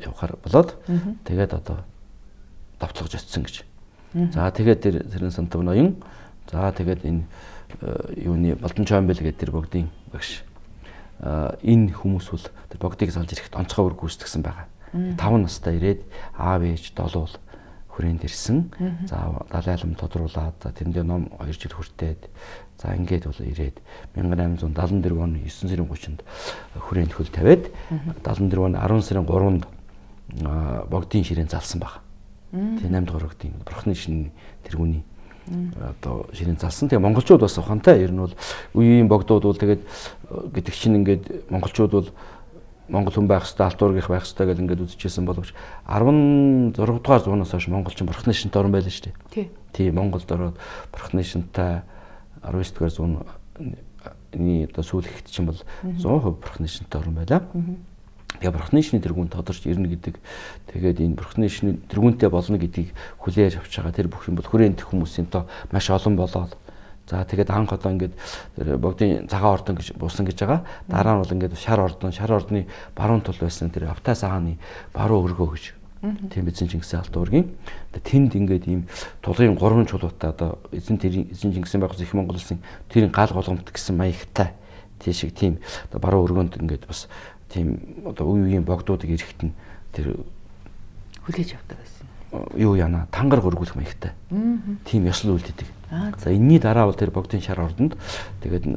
явахаар болоод тэгээд одоо давтлагж очсон гэж. За тэгээд тэр Цэрэн Сантав ноён за тэгээд энэ юуны Балдан Чойнбэл гэдэг тэр богдын багш энэ хүмүүс бол тэр богдыг салж ирэхэд онцгой үр гүйцэтгсэн байгаа. таван настай ирээд аав ээж долуул хүрээнд ирсэн. За далайлам тодруулаад за тэрэндээ ном хоёр жил хүртээд за ингээд бол ирээд мянга найман зуун дадлан дөрөв оны есөн сарын гуравчнд хүрээнд хөл тавиад дадлан дөрөв оны арван сарын гуравнд богдын ширээн залсан баг. Тэгээ наймд горогдын бурхны шинэ тэргүүний одоо ширээн залсан. Тэгээ монголчууд бас ухаантай. Ер нь бол үеийн богдууд бол тэгээд гэдэг чинь ингээд монголчууд бол монгол хүн байх хэвээр алтуургийнх байх хэвээр гэл ингээд үзчихсэн боловч арван зурга дугаар зуунаас хойш монголчин бурхны шинэтэй орн байлаа шүү дээ. Тий, Монголд ороод бурхны шинэтэй арван дөрөв дугаар зууны одоо сүүл ихт чинь бол зуун хувь бурхны шинэтэй орн байлаа. Тэгээ бурхны шинэ тэргүүнд тодорч ирнэ гэдэг. Тэгээд энэ бурхны шинэ тэргүүнтэй болно гэдгийг хүлээж авч байгаа. Тэр бүх юм бол хүрээнд хүмүүсийн тоо маш олон болоод. За тэгээд анх одоо ингээд тэр богдын цагаан ордон гэж буусан гэж байгаа. Дараа нь бол ингээд шар ордон, шар ордны баруун тул байсан тэр Автай сагааны баруун өргөө гэж. Тийм эзэн Чингисийн алт уургийн. Тэнд ингээд ийм тулгын гурван чулуутай одоо эзэн тэрийн эзэн Чингисийн байгуулсан их Монгол улсын тэрийн гал голгомт гэсэн маягтай тийш шиг тийм одоо баруун өргөөнд ингээд бас тийм одоо үе үеийн богдуудыг эрэхтэн тэр хүлээж авдаг байсан. Юу яана тангар гөргүүлэх маягтай. Тийм ёслол үлддэг. За энэний дараа бол тэр богдын шар ордонд тэгээд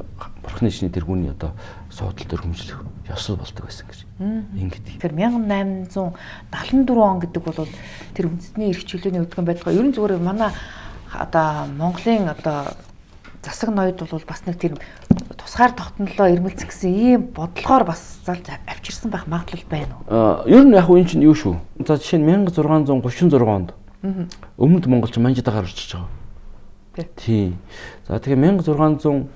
бурхны шинэ тэргүүний одоо суудал төр хүмжлэх ёслол болдог байсан гэж. Ингээд. Тэгэхээр мянга найман зуун дадлан дөрөв он гэдэг бол тэр үндэсний эрх чөлөөний өдгөн байдгаа ер нь зүгээр манай одоо Монголын одоо засаг ноёд бол бас нэг тэр тусгаар тогтнолоо ирмэлцэх гэсэн ийм бодлогоор бас залж авчирсан байх магадлал байна уу? Аа, ер нь яг уу энэ чинь юу шүү. За жишээ нь мянга зургаан зуун гуравчин зургаан онд. Өмнөд монголч манжидагаар орчиж байгаа. Тийм. За тэгээ мянга зургаан зуун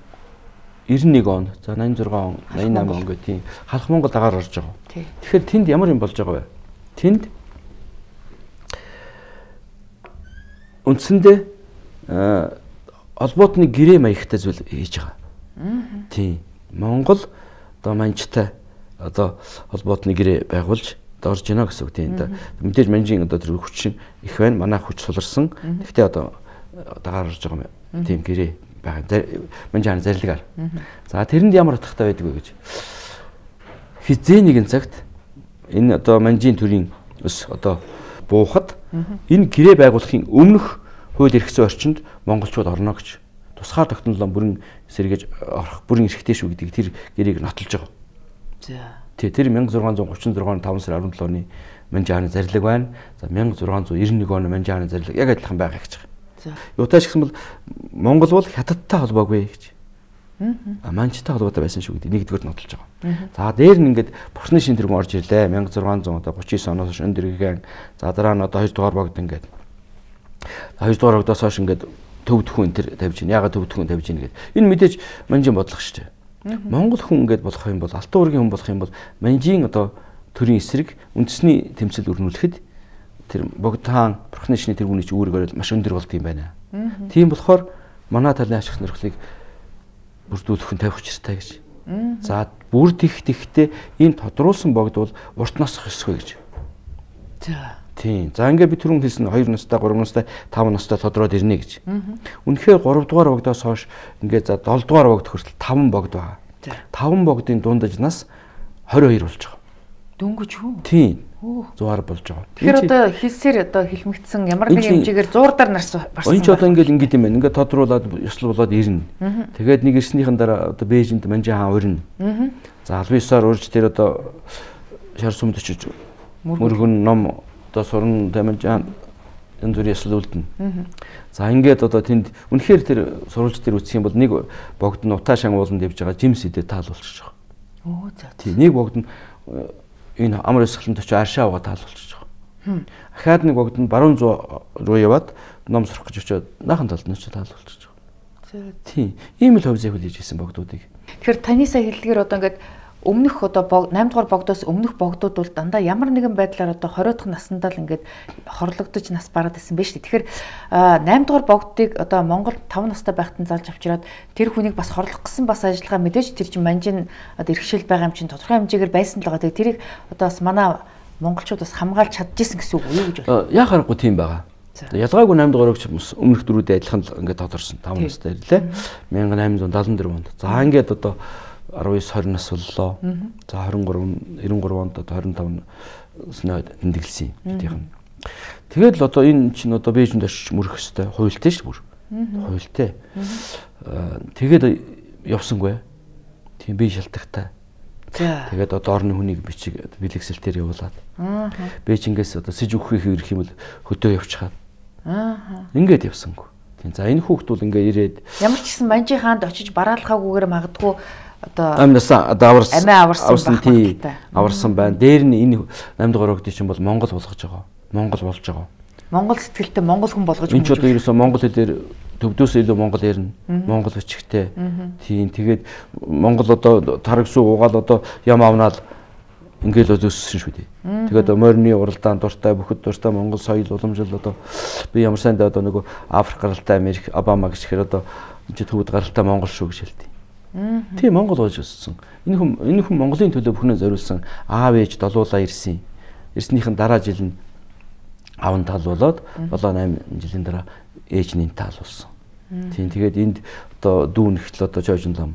девяносто нэг он, за восемьдесят шесть он, восемьдесят восемь он гэх тийм халах Монгол дагаар орж байгаа. Тэгэхээр тэнд ямар юм болж байгаа вэ? Тэнд үндсэндээ холбоотны гэрээ маягтай зүйл хийж байгаа. Тийм. Монгол одоо манжтай одоо холбоотны гэрээ байгуулж орж гинэ гэсэн үг тийм. Мэдээж манжийн одоо тэр хүчин их байна. Манай хүч суларсан. Гэхдээ одоо дагаар орж байгаа юм. Тийм гэрээ байгаа. Манжийн зарилгаар. За тэрэнд ямар утгатай байдаг вэ гэж. Хизээ нэгэн цагт энэ одоо манжийн төрийн ус одоо буухад энэ гэрээ байгуулахын өмнөх хууль эрх зүйн орчинд монголчууд орно гэж тусгаар тогтнолоо бүрэн сэргээж орох бүрэн эрхтэй шүү гэдэг тэр гэрээг нотолж байгаа. За. Тий, тэр мянга зургаан зуун гуравчин зургааны таван сарын арван долооны манжааны зарлиг байна. За мянга зургаан зуун девяносто нэг оны манжааны зарлиг яг адилхан байгаа гэж байгаа. За. Юутайч гэсэн бол Монгол бол хятадтай холбоогүй гэж. Аа. Манжтай холбоотой байсан шүү гэдэг нэгдүгээр нотолж байгаа. За дээр нь ингээд бурхны шин тэргүүн орж ирлээ. мянга зургаан зуун одоо гуравч девять оноос хойш өндөргэн. За дараа нь одоо хоёр дугаар богд ингээд хоёр дугаар богдоос хойш ингээд төвд хүн тэр тавьж гин. Ягаад төвд хүн тавьж гин гэдэг. Энэ мэдээж манжийн бодлого шүү дээ. Монгол хүн ингээд болох юм бол алтан уургийн хүн болох юм бол манжийн одоо төрийн эсрэг үндэсний тэмцэл өрнүүлэхэд тэр богд хаан бурхны шинэ тэргүүний чи үүргээр маш өндөр болд юм байна. Тийм болохоор манай талын ашиг сонирхлыг бүрдүүлэх хүн тавих учиртай гэж. За бүр тих тихтэй энэ тодруулсан богд бол урт насах ёсгүй гэж. За тийм. За ингээд би түрүүн хэлсэн хоёр настай, гурван настай, таван настай тодроод ирнэ гэж. Үнэхээр гурав дугаар богдоос хойш ингээд за долоо дугаар богд хүртэл таван богд байгаа. таван богдын дундаж нас двадцать хоёр болж байгаа. Дөнгөж үү? Тийм. Зугаар болж байгаа. Тэгэхээр одоо хэлсээр одоо хилмигдсэн ямар нэг хэмжээгээр зуурдаар нарс барсан. Энд ч одоо ингээд ингээд юм байна. Ингээд тодруулаад ёслол болоод ирнэ. Тэгээд нэг ирснийхэн дараа одоо Бээжинд Манжин хаан урина. За албан ёсоор урьж тэр одоо шар сүмд очиж мөргөн ном одоо сурн Манжин энэ зүрх ёслол үлдэнэ. За ингээд одоо тэнд үнэхээр тэр сурвалж тэр үсэх юм бол нэг богд нь утаа шан ууланд явж байгаа жимс идэ таалуулчих жоо. Оо за. Тийм нэг богд нь энэ амар өсгөлөнд очиж аршаа угаа таалуулчих жоо. Ахаад нэг богд нь баруун зуу руу яваад ном сурах гэж очиод наахан талд нь очиж таалуулчих жоо. Тийм ийм л хөвзөө хүлээж ирсэн богдуудыг. Тэгэхээр таны сая хэллэгээр одоо ингээд өмнөх одоо наймд дугаар богдоос өмнөх богдууд бол дандаа ямар нэгэн байдлаар одоо хорой дахь насандаа л ингээд хорлогдож нас бараад исэн байж тээ. Тэгэхээр наймд дугаар богдыг одоо Монгол таван настай байхад нь залж авчираад тэр хүнийг бас хорлох гэсэн бас ажиллагаа мэдээж тэр чинь Манжин одоо иргэшил байгаа юм чинь тодорхой хэмжээгээр байсан л байгаа. Тэрийг одоо бас манай монголчууд бас хамгаалж чадчихсан гэсэн үг үү гэж байна. Яа харахгүй тийм байгаа. Ялгаагүй наймд дугаарч өмнөх дөрүүдээ адилхан ингээд тодорсон таван настай ирлээ.千восемь hundred seventy-four онд. За ингээд одоо nineteen twenty нас боллоо. За twenty-three ninety-three онд одоо twenty-five снод тэмдэглэсэн юм тийм. Тэгээд л одоо энэ чинь одоо Бээжинд очиж мөрөх хэвээр хуйлтай шүү бүр. Хуйлтай. Тэгээд явсангүй. Тийм би шалтгатай. Тэгээд одоо орны хүнийг бичиг бэлэгсэлтээр явуулаад. Бээжингээс одоо сэж өгөх ирэх юм бол хөдөө явчихад. Ингээд явсангүй. Тийм. За энэ хүүхд бол ингээ ирээд ямар ч гэсэн Манжин хаанд очиж бараалхаагүйгээр магадгүй одоо амнасаа одоо аварсан амиа аварсан тий аварсан байна. Дээр нь энэ наймд дугаар өгдөг чинь бол Монгол болгож байгаа. Монгол болж байгаа. Монгол сэтгэлтэй Монгол хүн болгож байгаа. Энд ч одоо ерөөсөө Монгол хэлээр төвдөөс илүү Монгол ярина. Монгол бичгтэй. Тийм тэгээд Монгол одоо тарагсуу угаал одоо ям авнаал ингээл өссөн шүү дээ. Тэгээд морины уралдаан дуртай бүхэд дуртай Монгол соёл уламжлал одоо би ямар сайндаа одоо нөгөө Африк гаралтай Америк Обама гэж ихээр одоо энэ ч төвд гаралтай Монгол шүү гэж хэлдэг. Тийм Монгол болж өссөн. Энэ хүн энэ хүн Монголын төлөө бүхнээ зориулсан аав ээж долуулаа ирсэн. Ирснийхэн дараа жил нь аав нь талуулаад seven жилийн дараа ээж нь таалуулсан. Тийм тэгээд энд одоо дүү нэгтэл одоо Жожин лам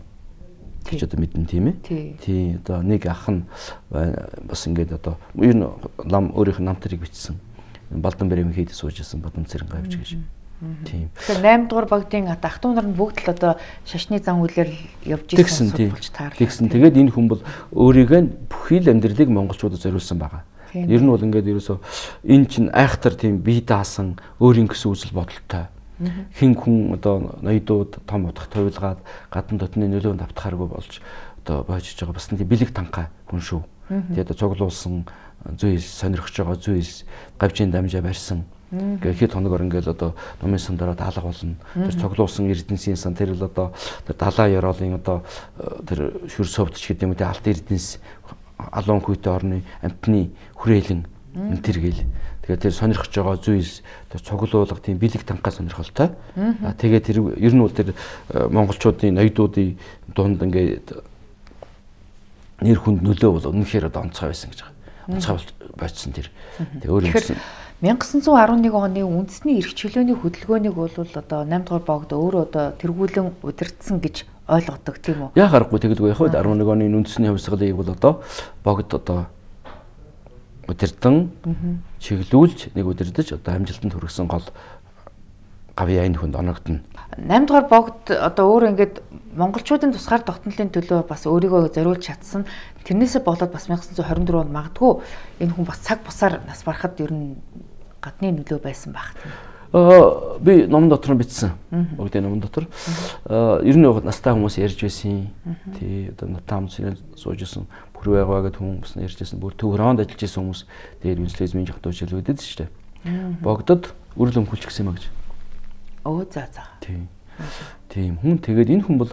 гэж одоо мэдэн тийм ээ. Тийм одоо нэг ах нь бас ингээд одоо ер нь лам өөрийнх нь намтрыг бичсэн. Балдан бэрэмийн хийд суужсэн Бадам Цэрэн гавж гэж. Тийм. Тэгэхээр наймд дугаар богдын ата ах トゥ нар нь бүгд л одоо шашны зан үйлээр явж ирсэн судалж таарлаа. Тэгсэн. Тэгээд энэ хүн бол өөрийгөө бүхий л амьдралыг монголчуудад зориулсан байгаа. Ер нь бол ингээд ерөөсөө энэ чинь айхтар тийм бие даасан өөрийн гэсэн үзэл бодолтой. Хин хүн одоо ноёдууд том утгах туйлгаад гадна дотны нөлөөнд автахааргүй болж одоо боожж байгаа бас тийм бэлэг танхай хүн шүү. Тэгээд цуглуулсан зүйл сонирхож байгаа зүйл гавжийн дамжаа барьсан. Ингээд хэд хоногор ингээд одоо номын сан дараа даалга болно. Тэр цуглуулсан эрдэнсийн сан тэр л одоо тэр далаа ёроолын одоо тэр шүр совдч гэдэг юм үү алт эрдэнэс алуун хүйтэ орны амтны хүрээлэн энэ төр гэл. Тэгээд тэр сонирхож байгаа зүйл тэр цуглуулга тийм бэлэг танхаа сонирхолтой. Аа тэгээд тэр ер нь бол тэр монголчуудын ноёдуудын дунд ингээд нэр хүнд нөлөө бол үнэхээр одоо онцгой байсан гэж байгаа. Онцгой болцсон тэр. Тэгээ өөр юмсэн nineteen eleven оны үндэсний эрх чөлөөний хөдөлгөөнийг бол одоо наймд дугаар богд өөрөө одоо тэргүүлэн удирдсан гэж ойлгодог тийм үү? Яа харахгүй тэгэлгүй яг eleven оны үндэсний хувьсгалыг бол одоо богд одоо удирдан чиглүүлж нэг удирдах одоо амжилтанд хүргэсэн гол гавьяа энэ хүнд оногдно. наймд дугаар богд одоо өөр ингээд монголчуудын тусгаар тогтнолын төлөө бас өөрийгөө зориулж чадсан. Тэрнээсээ болоод бас nineteen twenty-four онд магадгүй энэ хүн бас цаг бусаар нас барахад ер нь гадны нөлөө байсан байх тийм. Аа би номон дотор нь бичсэн. Богдын номон дотор. Аа ер нь настай хүмүүс ярьж байсан. Тий одоо натам суужсэн бүр байгаа гэдэг хүмүүс ярьж байсан. Бүр төв роонд ажиллаж байсан хүмүүс дээр үнслэзмийн жахтуу шилвэдэд шүү дээ. Богдод үрэл өмхүүлчих гэсэн юм гэж. Оо за за. Тийм. Тийм хүн тэгээд энэ хүн бол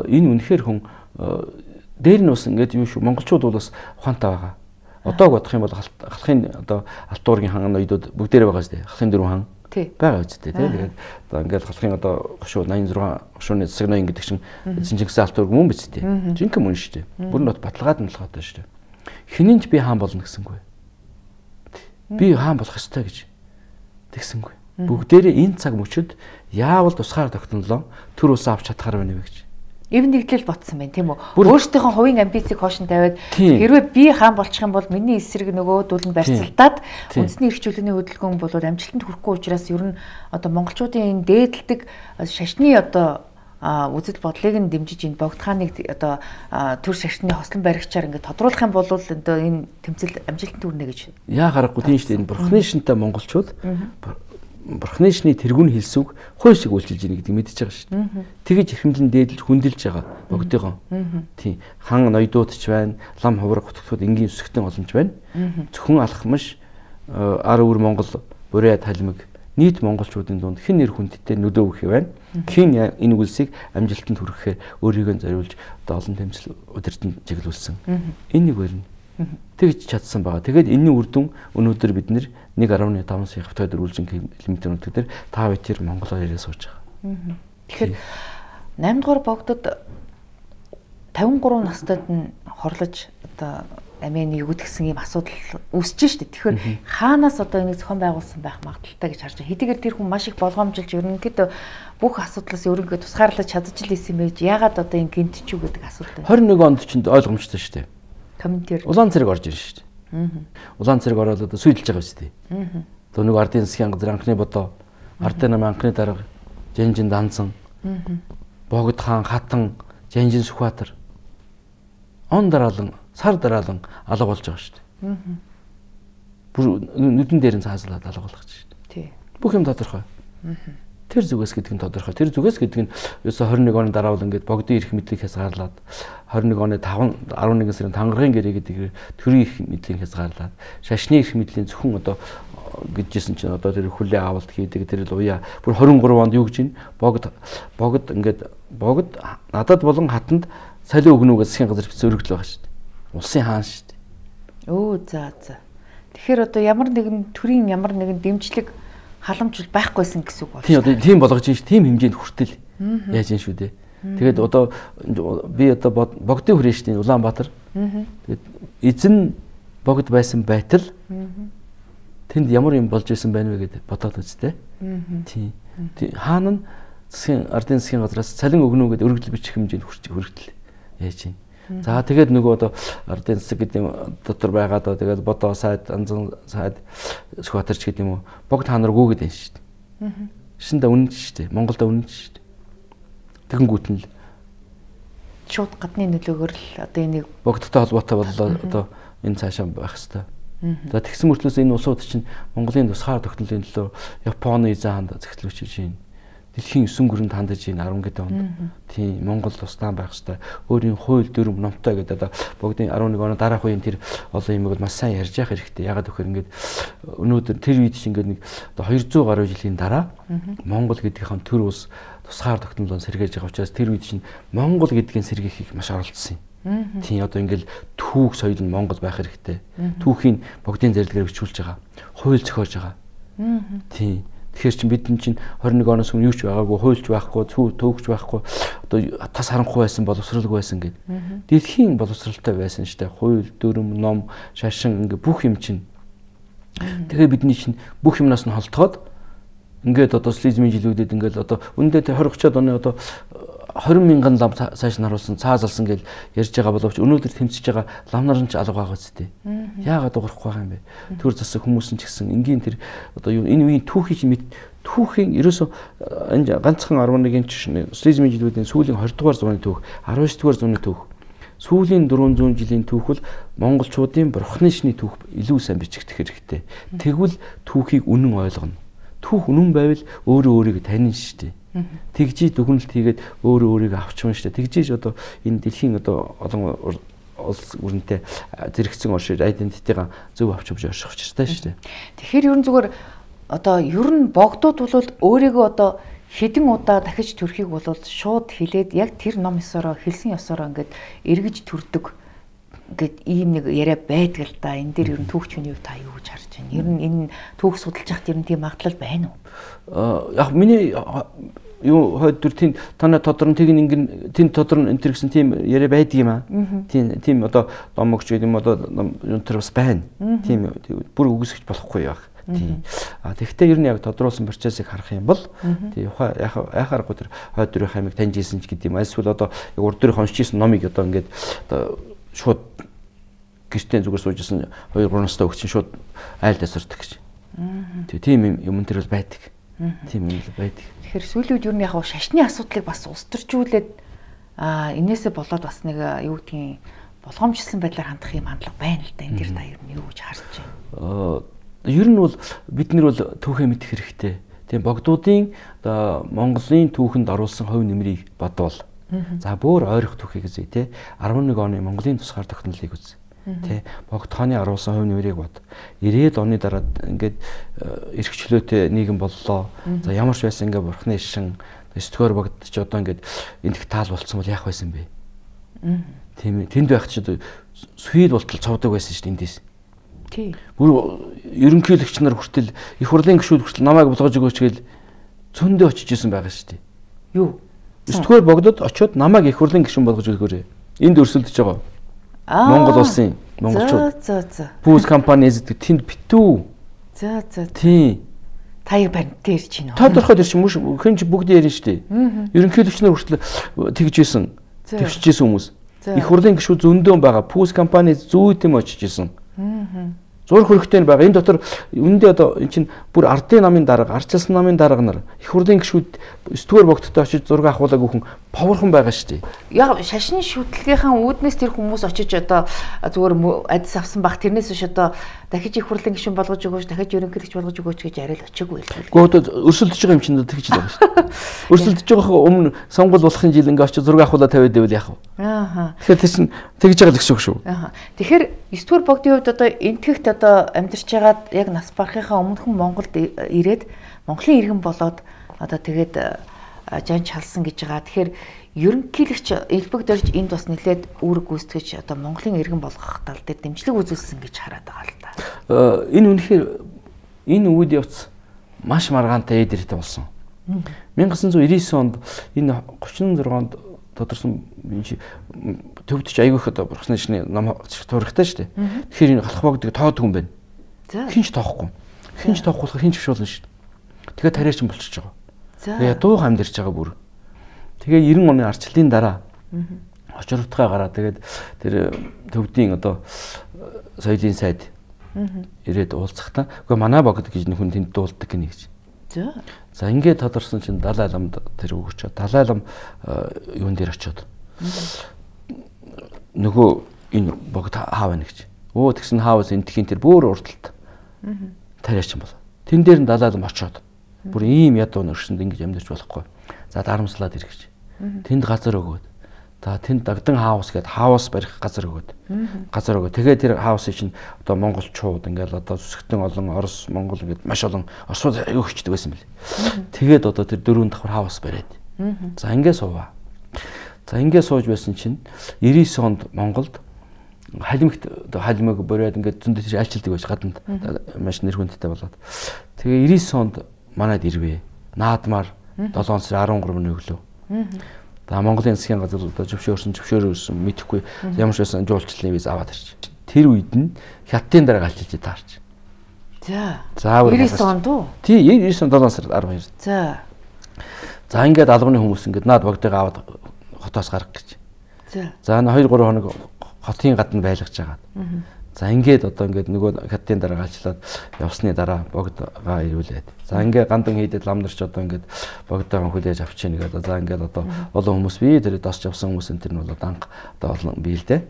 энэ үнэхээр хүн дээр нь бас ингээд юм шүү. Монголчууд бол бас ухаантай байгаа. Одоог бодох юм бол халахын одоо алтуургийн хан ноёдууд бүгдээрээ байгаа шүү дээ. Халахын дөрвөн хан байгаа үстэй тийм. Тэгээд одоо ингээд халахын одоо гошуу eighty-six гошууны засаг ноён гэдэг чинь Чингис алтуург мөн биз дээ. Жинхэнэ мөн шүү дээ. Бүр нот баталгаад нь болгоод байна шүү дээ. Хинэнч би хаан болно гэсэнгүй. Би хаан болох ёстой гэж тэгсэнгүй. Бүгдээрээ энэ цаг мөчөд яавал тусгаар тогтнолоо төр ус авч чадхаар байна вэ гэж Эв нэгдлэл ботсон байна тийм үү? Өөрсдийнхөө хувийн амбицийг хоошин тавиад хэрвээ би хаан болчих юм бол миний эсрэг нөгөө дүүл нь барьцалтаад үндэсний эрхчлөөний хөдөлгөөн бол амжилтанд хүрэхгүй учраас ер нь одоо монголчуудын энэ дээдэлдэг шашны одоо үзэл бодлыг нь дэмжиж энэ богд хааныг одоо төр шашны хослон баригчаар ингээд тодруулах юм бол одоо энэ тэмцэл амжилтанд хүрнэ гэж. Яа харахгүй тийм шүү дээ. Энэ бурхны шинтэй монголчууд бурхны шний тэргүүн хэлсүг хууль шиг үйлчилж ийн гэдэг мэдчихэж байгаа шүү дээ. Тэгэж эрхэмлэн дээдлж хүндэлж байгаа богдыгоо. Тийм. Хан ноёдуудч байна, лам хувраг хотгоход энгийн өсгөлтийн боломж байна. Зөвхөн алхамш ар өвөр Монгол буруу талмиг нийт монголчуудын дунд хэн нэр хүндтэй нөлөө өгөх юм байна. Хэн энэ үйлсийг амжилтанд хүрэхээр өөрийгөө зориулж одоо олон тэмцэл удирдан чиглүүлсэн. Энэ нэг байна. Тэгж чадсан байгаа. Тэгээд энэний үр дүн өнөөдөр бид нэг гаруй таван сая хавтгай дөрвөлжин километр өнөдөр та хоёр Монголоор яриа сууж байгаа. Тэгэхээр наймд дугаар богдод тавин гурав настайд нь хорлож одоо амийн өгдөгсөн ийм асуудал үүсэж штэ. Тэгэхээр хаанаас одоо энийг зохион байгуулсан байх магадaltaй гэж харж байна. Хэдийгээр тэр хүн маш их болгоомжилж ерөнхийдөө бүх асуудлаас өөрийгөө тусгаарлаж чадж л исэн байж яагаад одоо энэ гинтчүү гэдэг асуудал байна. хорин нэг онд ч ойлгомжтой штэ. Комментэр. Улаан цэрэг орж ирж штэ. Улаан цэрэг ороод одоо сүйдэлж байгаа штэ. Одоо нэг ардын засгийн газар анхны бодоо, ардын нам анхны дарга, Жанжин Дансан, Богд хаан Хатан, Жанжин Сүхбаатар он дараалан, сар дараалан алга болж байгаа шүү дээ. Бүр нүдэн дээр нь цааслаад алга болгож шүү дээ. Тий. Бүх юм тодорхой. Тэр зүгээс гэдэг нь тодорхой. Тэр зүгээс гэдэг нь ерөөсө хорин нэг оны дараавал ингээд богдын эрх мэдлийг хязгаарлаад хорин нэг оны таван арван нэгэн сарын тангаргийн гэрээ гэдэг төрийн эрх мэдлийг хязгаарлаад шашны эрх мэдлийн зөвхөн одоо гэжсэн чинь одоо тэр хүлээ авалт хийдэг тэр л уяа бүр хорин гурав онд юу гэж байна? Богд богд ингээд богд надад болон хатанд салиу өгнөгөөс засгийн газар бичсэн өргөдөл байгаа шүү дээ. Улсын хаан шүү дээ. Өө за за. Тэгэхээр одоо ямар нэгэн төрийн ямар нэгэн дэмжлэг халамж байхгүйсэн гэсэн үг байна. Тийм одоо тийм болгож ин ш тийм хэмжээнд хүртэл яаж ин шүү дээ. Тэгээд одоо би одоо богдын хүрээ шүү дээ Улаанбаатар. Тэгээд эзэн богд байсан байтал тэнд ямар юм болж исэн байна вэ гэдэг бодоод үзтээ. Тийм. Хаан нь засгийн ардын засгийн газраас цалин өгнө гэдэг өргөдөл бичих хэмжээнд хүрч хүртэл яаж юм. За тэгээд нөгөө одоо ардын засаг гэдэг дотор байгаа доо тэгээд бодоо сайд анзан сайд Сүхбаатарч гэдэг юм уу богд хаан нар гүгээд байна шүү дээ. Шинэ үнэн шүү дээ. Монголд үнэн шүү дээ. Тэгэнгүүт нь л шууд гадны нөлөөгөөр л одоо энийг богдтой холбоотой боллоо одоо энэ цаашаа байх хэвээр. За тэгсэн мөртлөөс энэ улсууд чинь Монголын тусгаар тогтнолын төлөө Японы эзэн хаанд захидлуулж байна. Дэлхийн есөн гүрэнд хандаж ийн арван гэдэг онд тийм Монгол тусдаан байх хэвээр өөрийн хууль дүрм номтой гэдэг одоо богдын арван нэг оны дараах үеийн тэр олон юмыг маш сайн ярьж явах хэрэгтэй. Ягаад гэвэл ингээд өнөөдөр тэр үед чинь ингээд нэг одоо двести гаруй жилийн дараа Монгол гэдгийнхэн төр улс тусгаар тогтнолоо сэргээж байгаа учраас тэр үед чинь Монгол гэдгийн сэргийхийг маш оролцсон юм. Тийм одоо ингээд түүх соёл нь Монгол байх хэрэгтэй. Түүхийн богдын зарилгаар бичүүлж байгаа. Хууль зохиож байгаа. Тийм. Тэгэхээр чинь бид чинь хорин нэг оноос өмнө юу ч байгаагүй, хуульч байхгүй, төвөгч байхгүй, одоо тас харанхуй байсан, боловсралгүй байсан гэдэг. Дэлхийн боловсралтай байсан штэ. Хууль, дүрм, ном, шашин ингээ бүх юм чинь. Тэгэхээр бидний чинь бүх юмнаас нь холтгоод ингээд одоо социализмын жилүүдэд ингээд одоо үндэ тэр двадцать оны одоо двадцать мянган лам цааш нь харуулсан, цаазалсан гэж ярьж байгаа боловч өнөөдөр тэмцэж байгаа лам нар нь ч алга байгаа үстэй. Яагаад уурахгүй байгаа юм бэ? Төр засаг хүмүүс нь ч гэсэн энгийн тэр одоо юу энэ үеийн түүхий чинь түүхийн ерөөсөө энэ ганцхан арван нэгэн чинь социализмын жилүүдийн сүүлийн двадцать дугаар зууны түүх, дөрвөн дугаар зууны түүх. Сүүлийн дөрвөн зуун жилийн түүх бол монголчуудын бурхны шний түүх илүү сайн бичигдэх хэрэгтэй. Тэгвэл түүхийг үнэн ойлгоно. Түүх үнэн байвал өөрөө өөрийгөө таньна шүү дээ. Тэгжиж дүгнэлт хийгээд өөрөө өөрийгөө авчман шүү дээ. Тэгжиж одоо энэ дэлхийн одоо олон улс өрнөтэй зэрэгцэн оршиж айдентитигаа зөв авч явж орших учиртай шүү дээ. Тэгэхээр ерөн зүгээр одоо ер нь богдууд бол өөрийгөө одоо хэдэн удаа дахиж төрхийг бол шууд хэлээд яг тэр ном ёсороо хэлсэн ёсороо ингээд эргэж төрдөг гэд ийм нэг яриа байдаг л да. Энэ дээр ер нь түүхчний хувь та юу гэж харж байна? Ер нь энэ түүх судалж яхад ер нь тийм магадлал байна уу? Аа яг миний юу хойд төр тийм танай тодорн тэг ингэн тийм тодорн энэ төр гэсэн тийм яриа байдаг юм аа. Тийм тийм одоо домогч гэдэг юм одоо юм төр бас байна. Тийм бүр үгүйсгэж болохгүй яг. Тийм. А тэгэхдээ ер нь яг тодруулсан процессыг харах юм бол тийм яхаарахгүй тэр хойд дөрвийн хаймыг таньж ийсэн ч гэдэг юм. Эсвэл одоо яг урд дөрвийн уншиж ийсэн номыг одоо ингээд одоо шууд гэртээ зүгээр суужсэн хоёр гурван настай өгч шууд айл тасардаг гэж. Тийм юм тэр бол байдаг. Тийм юм л байдаг. Тэгэхээр сүүлүүд ер нь яг шашны асуудлыг бас устөрчүүлээд а энээсээ болоод бас нэг юу гэдгийг болгоомжлсон байдлаар хандах юм хандлага байна л да. Энэ дэр та ер нь юу гэж харж байна? Ер нь бол бид нар бол түүхээ мэдэх хэрэгтэй. Тийм богдуудын одоо Монголын түүхэнд оруулсан хувь нэмрийг бодвол за бүр ойрох түүхийг үзье те арван нэг оны Монголын тусгаар тогтнолыг үзье. Тэ богд хааны оруулсан хувь нэмрийг бод. ирээд оны дараад ингээд эрхчлөөтэй нийгэм боллоо. За ямар ч байсан ингээд бурхны шин өстгөр богд ч одоо ингээд эндх таал болцсон бол яах байсан бэ? Тийм ээ. Тэнд байх ч одоо сүйд болтол цовдөг байсан шүү дээ эндээс. Тий. Бүр ерөнхийлөгч нар хүртэл их хурлын гишүүд хүртэл намайг болгож өгөөч гээл зөндөө очиж исэн байгаа шүү дээ. Юу? Өстгөр богдод очиод намайг их хурлын гишүүн болгож өгөөрэй. Энд өрсөлдөж байгаа. Монгол улсын монголчууд. За за. Бүүс компани эзэдэг тэнд битүү. За за. Тий. Таяг баримттай ирж байна. Тодорхой ирж мөш хэнч бүгд ярина шүү дээ. Ерөнхийлөгч нар хүртэл тэгж исэн. Тэгшиж исэн хүмүүс. Их хурлын гишүүд зөндөө байгаа. Бүүс компани зүйтэм очиж исэн. Зурх хөрөгтэй нь байгаа. Энэ дотор үндэ одоо эн чинь бүр ардын намын дарга, арчилсан намын дарга нар их хурлын гишүүд өстгөр богдтой очиж зураг авахуулаг өгөн поворхон байгаа шүү дээ. Яг шашны шүтлгийнхаа үүднээс тэр хүмүүс очиж одоо зүгээр адис авсан бах тэрнээс биш одоо дахиж их хурлын гишүүн болгож өгөөч, дахиж ерөнхийлөгч болгож өгөөч гэж яриад очиагүй л. Гэхдээ өрсөлдөж байгаа юм чинь тэгж л байгаа шүү дээ. Өрсөлдөж байгаа өмнө сонгол болохын жил ингээ очиж зураг авахуулаа тавиад байвал яах вэ? Аа. Тэгэхээр тэр чинь тэгж байгаа л гэсэн үг шүү. Аа. Тэгэхээр эсвэр богдын хувьд одоо энтгэхт одоо амьдарч байгаад яг нас барахынхаа өмнөхөн Монголд ирээд Монголын иргэн болоод одоо тэгээд жан чалсан гэж байгаа. Тэгэхээр ерөнхийлөгч элбэг дөрж энд бас нэлээд үүрэг гүйцэтгэж одоо Монголын иргэн болгох тал дээр дэмжлэг үзүүлсэн гэж хараад байгаа л да. Энэ үнэхээр энэ үед явц маш маргаантай эдэртэй болсон. 천구 девятьсот девяносто онд энэ тридцать шесть онд тодорсон төвдөж айгүйх одоо бурхны шний ном туурахтай шүү дээ. Тэгэхээр энэ халах богдыг тоод хүн байна. Хинч тоохгүй. Хинч тоохгүй хинч биш болно шүү дээ. Тэгэхээр тариач юм болчихж байгаа. Тэгээ ядуу хамдэрч байгаа бүр. Тэгээ девяносто оны арчлалын дараа очирвтгаа гараа тэгээд тэр төвдийн одоо соёлын сайд ирээд уулзахтаа үгүй манай богд гэж хүн тэнд дуулдаг гинэ гэж. За. За ингээд тодорсон чинь Далай ламд тэр өгч Далай лам юун дээр очиод нөгөө энэ богд хаа байна гэж. Өө тэгсэн хаавс энтхийн тэр бүр урдалт. Тариач юм бол. Тэн дээр нь Далай лам очиод бүр ийм ядуу нөрсөнд ингэж амьдарч болохгүй. За дарамслаад ир гэж. Тэнд газар өгөөд. За тэнд дагдан хаус гээд хаус барих газар өгөөд. Газар өгөө. Тэгээ тэр хаусыг чинь одоо монголчууд ингээл одоо зүсгтэн олон Орос, Монгол ингээд маш олон Оросууд аягүй хүчтэй байсан бэл. Тэгээд одоо тэр дөрөв давхар хаус бариад. За ингээд суваа. За ингээд сууж байсан чинь девяносто онд Монголд халимгт одоо халимыг бориод ингээд зөндөө тэр айлчилдаг байж гаданд маш нэр хүндтэй болоод. Тэгээ девяносто онд манайд ирвэ. Наадмаар долоон сарын арван гуравны өглөө. За Монголын засгийн газар одоо зөвшөөрсөн зөвшөөрөөсөн мэдэхгүй ямар ч байсан жуулчлалын виз аваад ирч. Тэр үед нь хятадын дараа галчилж таарч. За. За девяносто онд уу? Тий, девяносто долоон сард арван хоёр. За. За ингээд албаны хүмүүс ингээд наад богдыг аваад хотоос гарах гэж. За. За хоёр гурван хоног хотын гадна байлгаж байгаа. За ингээд одоо ингээд нөгөө хятадын дараа галчлаад явсны дараа богдгаа ирүүлээд. За ингээд гандан хийдэд ламдарч одоо ингээд богдоогоо хүлээж авчихна гэдэг. За ингээд одоо олон хүмүүс бие тэр досч явсан хүмүүс энэ тэр нь бол анх одоо олон бие л дээ.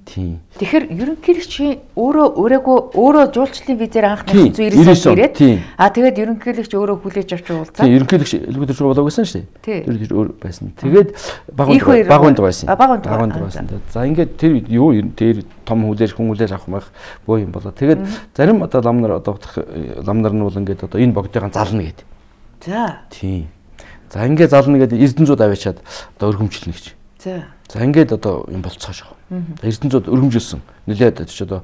Тийм. Тэгэхээр ерөнхийлөгч өөрөө өөрөөгөө өөрөө жуулчлалын визээр анх девяносто ирээд а тэгээд ерөнхийлөгч өөрөө хүлээж авч уулзаа. Тийм ерөнхийлөгч элбэг дөрөв болоог байсан шүү дээ. Тэр өөр байсан. Тэгээд багунд багунд байсан. Багунд байсан. За ингээд тэр юу тэр том хүлээж хүн хүлээж авах мах боо юм болоо. Тэгээд зарим одоо лам нар одоо лам нар нь бол ингээд одоо энэ богдыг зална гэдэг. За. Тийм. За ингээд зална гэдэг эрдэнэзүүд аваачаад одоо өргөмжлөнө гэж. За. За ингээд одоо юм болцоож байгаа. Эрдэнэзүүд өргөмжилсөн. Нилээд ч одоо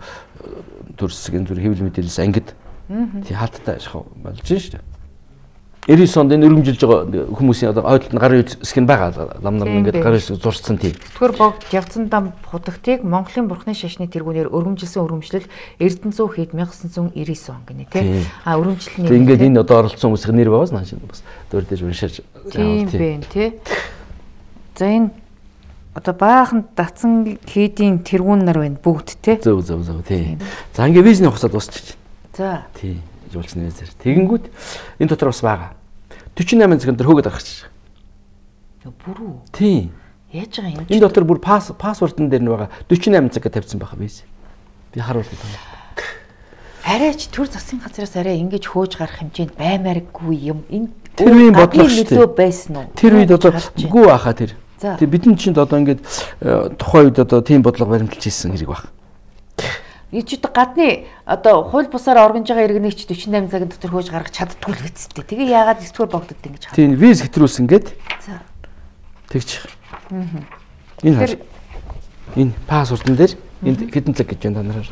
төрсгийн зүр хэвлэл мэдээлэлс ангид. Тий хаалттай ашиг болж шүү дээ. девяносто онд энэ өргөмжилж байгаа хүмүүсийн одоо ойдлолт нь гарын хэсэг нь байгаа. Лам нар ингээд гарын хэсэг зурцсан тийм. Тэтгэр богд явцан дам худагтыг Монголын бурхны шашны тэргүүнээр өргөмжилсэн өргөмжлөл Эрдэнэзүү хэд мянга девятьсот девяносто он гинэ тий. А өргөмжлөлний ингээд энэ одоо оролцсон хүмүүсийн нэр байгаас нааш бас дөөрдөж уншиж тийм бэ тий. За энэ одоо баахан датсан хийдийн тэргүүн нар байна бүгд тий. Зөв зөв зөв тий. За ингээд визний хугацаа дуусчих. За. Тий. Жуулчны визээр. Тэгэнгүүт энэ дотор бас байгаа. forty-eight цагт төр хөөгд гаргачих. Бүрүү. Тий. Яаж байгаа юм? Энэ дотор бүр пасс пассвортын дээр нь байгаа forty-eight цаг тавьсан байгаа биз. Би харуулдаг юм. Арайч төр засгийн газраас арай ингэж хөөж гарах хэмжээнд баймааргүй юм. Энэ тэр үеийн бодлого шүү дээ. Байсан уу? Тэр үед одоо гүү ахаа тэр. Тэг бидний чинь одоо ингээд тухайн үед одоо тийм бодлого баримталж ийсэн хэрэг баг. Юу ч одоо гадны одоо хууль бусаар органж байгаа иргэнийч forty-eight цагийн дотор хөөж гаргах чаддгүй л гэцтэй. Тэгээ яагаад эсвэр богдод ингэж хаа. Тийм виз хэтрүүлсэн гээд. За. Тэгчих. Аа. Энэ хар. Энэ пассвортын дээр энд хэдэн цаг гэж байна та нараар.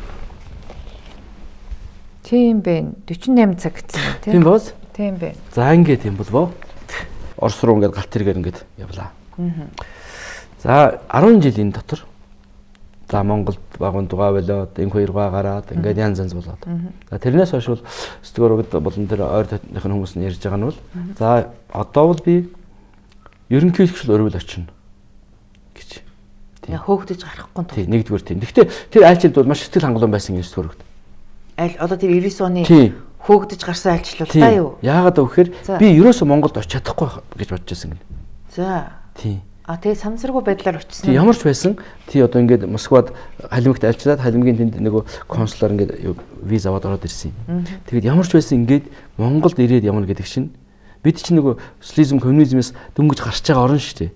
Тийм бэ. forty-eight цаг гэсэн юм тийм. Тийм боос? Тийм бэ. За ингээд юм болвоо. Орос руу ингээд галт тэргээр ингээд явлаа. Аа. За ten жилийн дотор за Монголд багуун дугаа болоод энэ хоёргаа гараад ингээд янз янз болоод. За тэрнээс хойш бол сэтгүүрүүд болон тэр ойр дотныхын хүмүүс нь ярьж байгаа нь бол за одоо бол би ерөнхийлөгчл өрөөл очино гэж. Тийм хөөгдөж гарахгүй тул. Тийм нэгдүгээр тийм. Гэхдээ тэр айлчилд бол маш сэтгэл хангалуун байсан юм сэтгүүрүүд. Айл одоо тэр ninety оны хөөгдөж гарсан айлчлал та юу? Яагаад гэвэл би ерөөсөө Монголд очиж чадахгүй гэж бодож байсан гэнэ. За. Тийм. А тэгээ самсаргүй байдлаар очсон. Тий ямар ч байсан тий одоо ингээд Москвад халимагт альчлаад халимгийн тэнд нөгөө консулаар ингээд виз аваад ороод ирсэн юм. Тэгээд ямар ч байсан ингээд Монголд ирээд явна гэдэг чинь бид чинь нөгөө социализм коммунизмээс дөнгөж гарч байгаа орн шүү дээ.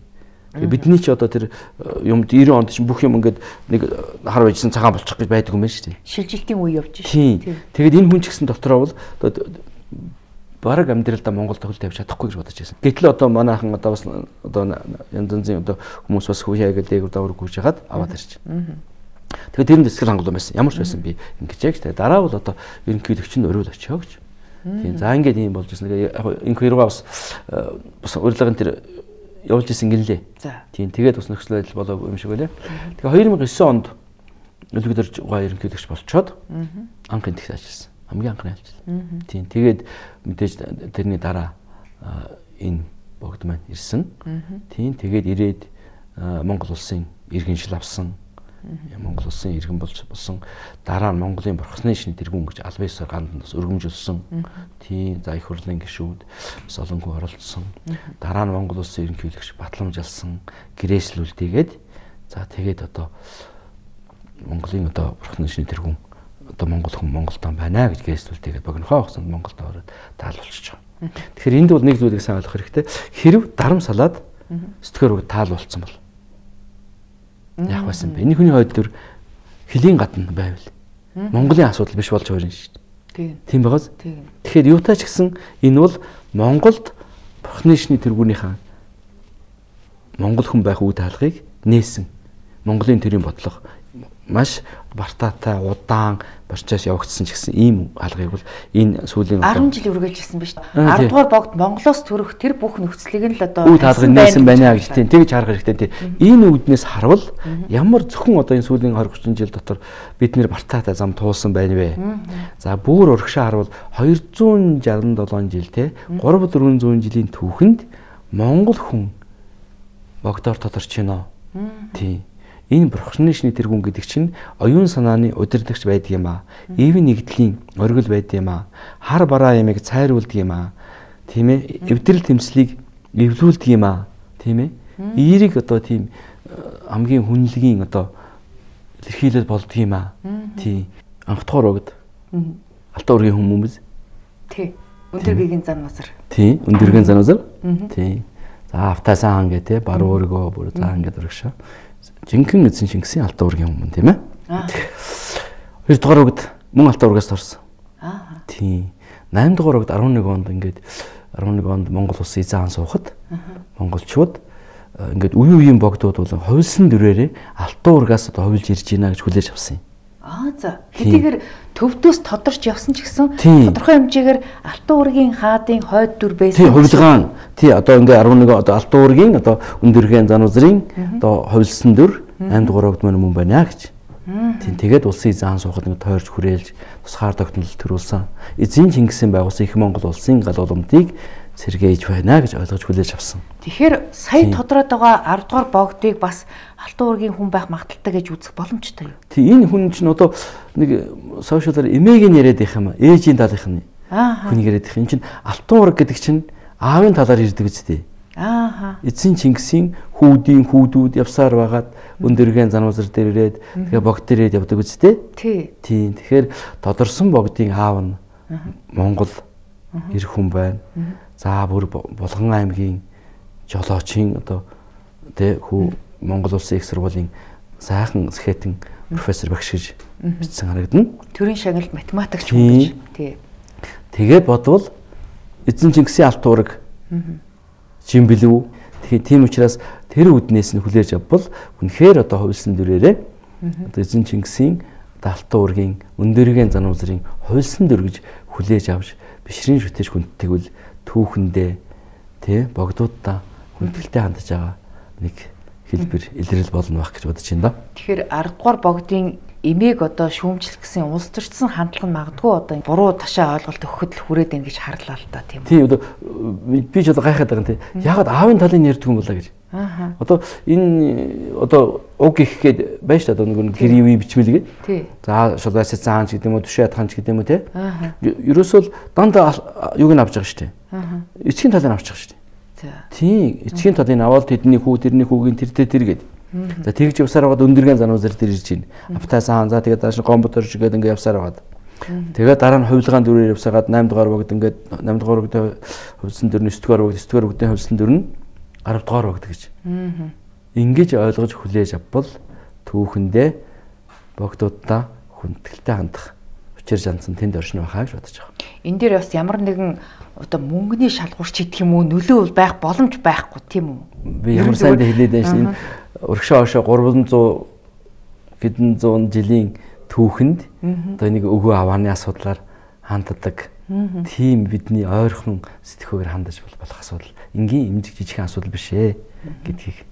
Тэгээд бидний ч одоо тэр юм ninety онд чинь бүх юм ингээд нэг хар байжсан цагаан болчих гэж байдаг юм байна шүү дээ. Шилжилтийн үе явж шүү. Тий. Тэгээд энэ хүн ч гэсэн дотроо бол одоо бараг амьдралдаа Монголд хөл тавьж чадахгүй гэж бодож байсан. Гэтэл одоо манайхан одоо бас одоо янз янзын одоо хүмүүс бас хүйяа гэдэг дээгүүр гүйж хагаад аваад ирж. Тэгээд тэр нь дэсгэр хангалуун байсан. Ямар ч байсан би ингэж яг тэ дараа бол одоо ерөнхийлөгч нь өрөөл очио гэж. Тийм за ингээд юм болж ирсэн. Яг энэ хоёроо бас бас урилгын тэр явуулж ирсэн гинлээ. Тийм тэгээд бас нөхцөл байдал болоогүй юм шиг байлаа. Тэгээ two thousand nine онд өлөгдөрж гоо ерөнхийлөгч болчоод анхын тэгт ажилласан. Хамгийн анхны айлчлал. Тийм тэгээд мэдээж тэрний дараа энэ богд маань ирсэн. Тийм тэгээд ирээд Монгол улсын иргэн шил авсан. Монгол улсын иргэн болж болсон. Дараа нь Монголын бурхны шин тэргүүн гэж албан ёсоор гандаас өргөмжүүлсэн. Тийм за их хурлын гишүүд бас олонгүй оролцсон. Дараа нь Монгол улсын ерөнхийлөгч батламжуулсан. Гэрээслүүлдийгээд за тэгээд одоо Монголын одоо бурхны шин тэргүүн одоо Монгол хүн Монголдон байна гэж гэрээслүүлдийгээд богинохоо хугацаанд Монголд ороод таалуулчих. Тэгэхээр энд бол нэг зүйлийг сайн ойлгох хэрэгтэй. Хэрв дарам салаад сэтгэрөг таалуулсан бол яах байсан бэ? Энэ хүний хойд төр хөлийн гадна байвал Монголын асуудал биш болж байна шүү дээ. Тийм байгаас. Тэгэхээр юутай ч гэсэн энэ бол Монголд бурхны шний тэргүүнийхээ Монгол хүн байх үе таалгыг нээсэн. Монголын төрийн бодлого маш бартаатай удаан борчоос явагдсан ч гэсэн ийм алгыг бол энэ сүүлийн ten жил үргэлжилсэн биз дээ. ten дугаар богд Монголоос төрөх тэр бүх нөхцөлийг нь л одоо үе таалгыг нээсэн байна гэж тийм тэгж харах хэрэгтэй. Энэ үднээс харвал ямар зөвхөн одоо энэ сүүлийн twenty thirty жил дотор бид нэр бартаатай зам туулсан байна вэ? За бүр урагшаа харвал two hundred sixty-seven жил те three four hundred жилийн түүхэнд Монгол хүн богдоор тодорч байна. Тийм. Энэ бурхны шний тэргүүн гэдэг чинь оюун санааны удирдагч байдаг юм аа. Эвэн нэгдлийн оргил байдаг юм аа. Хар бараа ямиг цайруулдаг юм аа. Тийм ээ. Эвдрэл тэмцлийг эвлүүлдэг юм аа. Тийм ээ. Эерийг одоо тийм хамгийн хүнлэгийн одоо илэрхийлэл болдго юм аа. Тийм. Анх дахь урагд. Алтан ургийн хүмүүс. Тийм. Өндөргийн зан мазар. Тийм. Өндөргийн зан мазар. Тийм. За автасан хан гэдэг баруун өргөө бүр заан гэдэг урагшаа. Жинхэнэ эзэн Шингисийн алтан ургийн хүмүүс тийм ээ. Аа. two дугаар үгд мөн алтан ургаас торсон. Аа. Тийм. eight дугаар үгд eleven онд ингээд eleven онд Монгол улс эзэн хаан суухад монголчууд ингээд үе үеийн богдууд бол хувилсан дөрөөрөө алтан ургаас одоо хувилж ирж байна гэж хүлээж авсан юм. Аа за. Хэдийгээр төвдөөс тодорч явсан ч гэсэн тодорхой хэмжээгээр Алтан уургийн хаадын хойд дүр байсан. Тий, хувилгаан. Тий, одоо ингээ арван нэг одоо Алтан уургийн одоо өндөргийн зан үзрийн одоо хувилсан дүр аймд гуравд мөн мөн байна гэж. Тийм тэгээд улсын заан суухад нэг тойрч хүрээлж тусгаар тогтнол төрүүлсэн. Эзэн Чингисийн байгуулсан их Монгол улсын гал уламжийг сэргээж байна гэж ойлгож хүлээж авсан. Тэгэхээр сая тодроод байгаа арав дугаар богдыг бас Алтан уургийн хүн байх магадaltaй гэж үзэх боломжтой юу? Тийм энэ хүн чинь одоо нэг сошиалаар эмээгийн яриад их юм аа. Ээжийн талынх нь. Хүнийг яриад их. Энэ чинь Алтан уург гэдэг чинь аавын талаар ирдэг үстэй. Аа. Эзэн Чингисийн хүүдийн хүүдүүд явсаар байгаад өндөргийн зануузар дээр ирээд тэгээ богд дээр ирээд явдаг үстэй. Тий. Тийм. Тэгэхээр тодорсон богдын аав нь Монгол эр хүн байна. За бүр Булган аймгийн жолоочийн одоо тэ хүү Монгол улсын их сургуулийн сайхан сэхэтэн профессор багш гэж бичсэн харагдана. Төрийн шагналд математикч хүн гэж. Тий. Тэгээд бодвол эзэн Чингисийн Алтан уург жим билүү. Тэгэхээр тийм учраас тэр үднээс нь хүлээж авбал үнэхээр одоо хувилсан дүрээрээ одоо эзэн Чингисийн Алтан уургийн өндөргийн зан үзрийн хувилсан дүр гэж хүлээж авч бишрийн шүтэж хүндтгэвэл түүхэндээ тий богдуудаа хүндгэлтэй хандж байгаа нэг хэлбэр илрэл болно байх гэж бодож байна да. Тэгэхээр арав дугаар богдын эмээг одоо шүүмжлэх гэсэн улс төрчсөн хандлага нь магадгүй одоо буруу ташаа ойлголт өгөхөд л хүрээд байна гэж харлаа л да тийм үү. Тийм одоо би ч одоо гайхаад байгаа юм тий. Ягаад аавын талын ярьдаг юм болоо гэж. Аа. Одоо энэ одоо уг ихэхэд байж та одоо нэг гэр үе бичмэлгээд. Тий. За шулбайсаа заан ч гэдэг юм уу түшээ ядхан ч гэдэг юм уу тий. Аа. Ерөөсөө дандаа юуг нь авч байгаа шүү дээ. Аа. Эцгийн талыг авч байгаа шүү дээ. Тийм эцгийн талыг аваад тэдний хүү тэрний хүүгийн тэртээ тэргээд. За тэгж явсаар байгаад өндөргийн зануузар дээр ирж байна. Автаасан за тэгээд дааш гомбот орж игээд ингээд явсаар байгаад. Тэгээд дараа нь хувилгаан дүрээр явсагаад осем дугаар богд ингээд осем дугаар богд хувилсан дүр нь девять дугаар богд девять дугаар богдын хувилсан дүр нь арав дугаар богд гэж. Ингэж ойлгож хүлээж авбал түүхэндээ богдуудаа хүндгэлтэй хандах учир жанцсан тэнд оршин байхаа гэж бодож байгаа. Энэ дээр бас ямар нэгэн одоо мөнгөний шалгуурч идэх юм уу нөлөө байх боломж байхгүй тийм үү? Би ямар сайн дэ хэлээд байна шин урагшаа хошоо гурван зуун хэдэн зуун жилийн түүхэнд одоо нэг өвгөө авааны асуудлаар ханддаг. Тийм бидний ойрхон сэтгэхүйгээр хандаж болох асуудал. Энгийн эмзэг жижигхэн асуудал биш ээ гэдгийг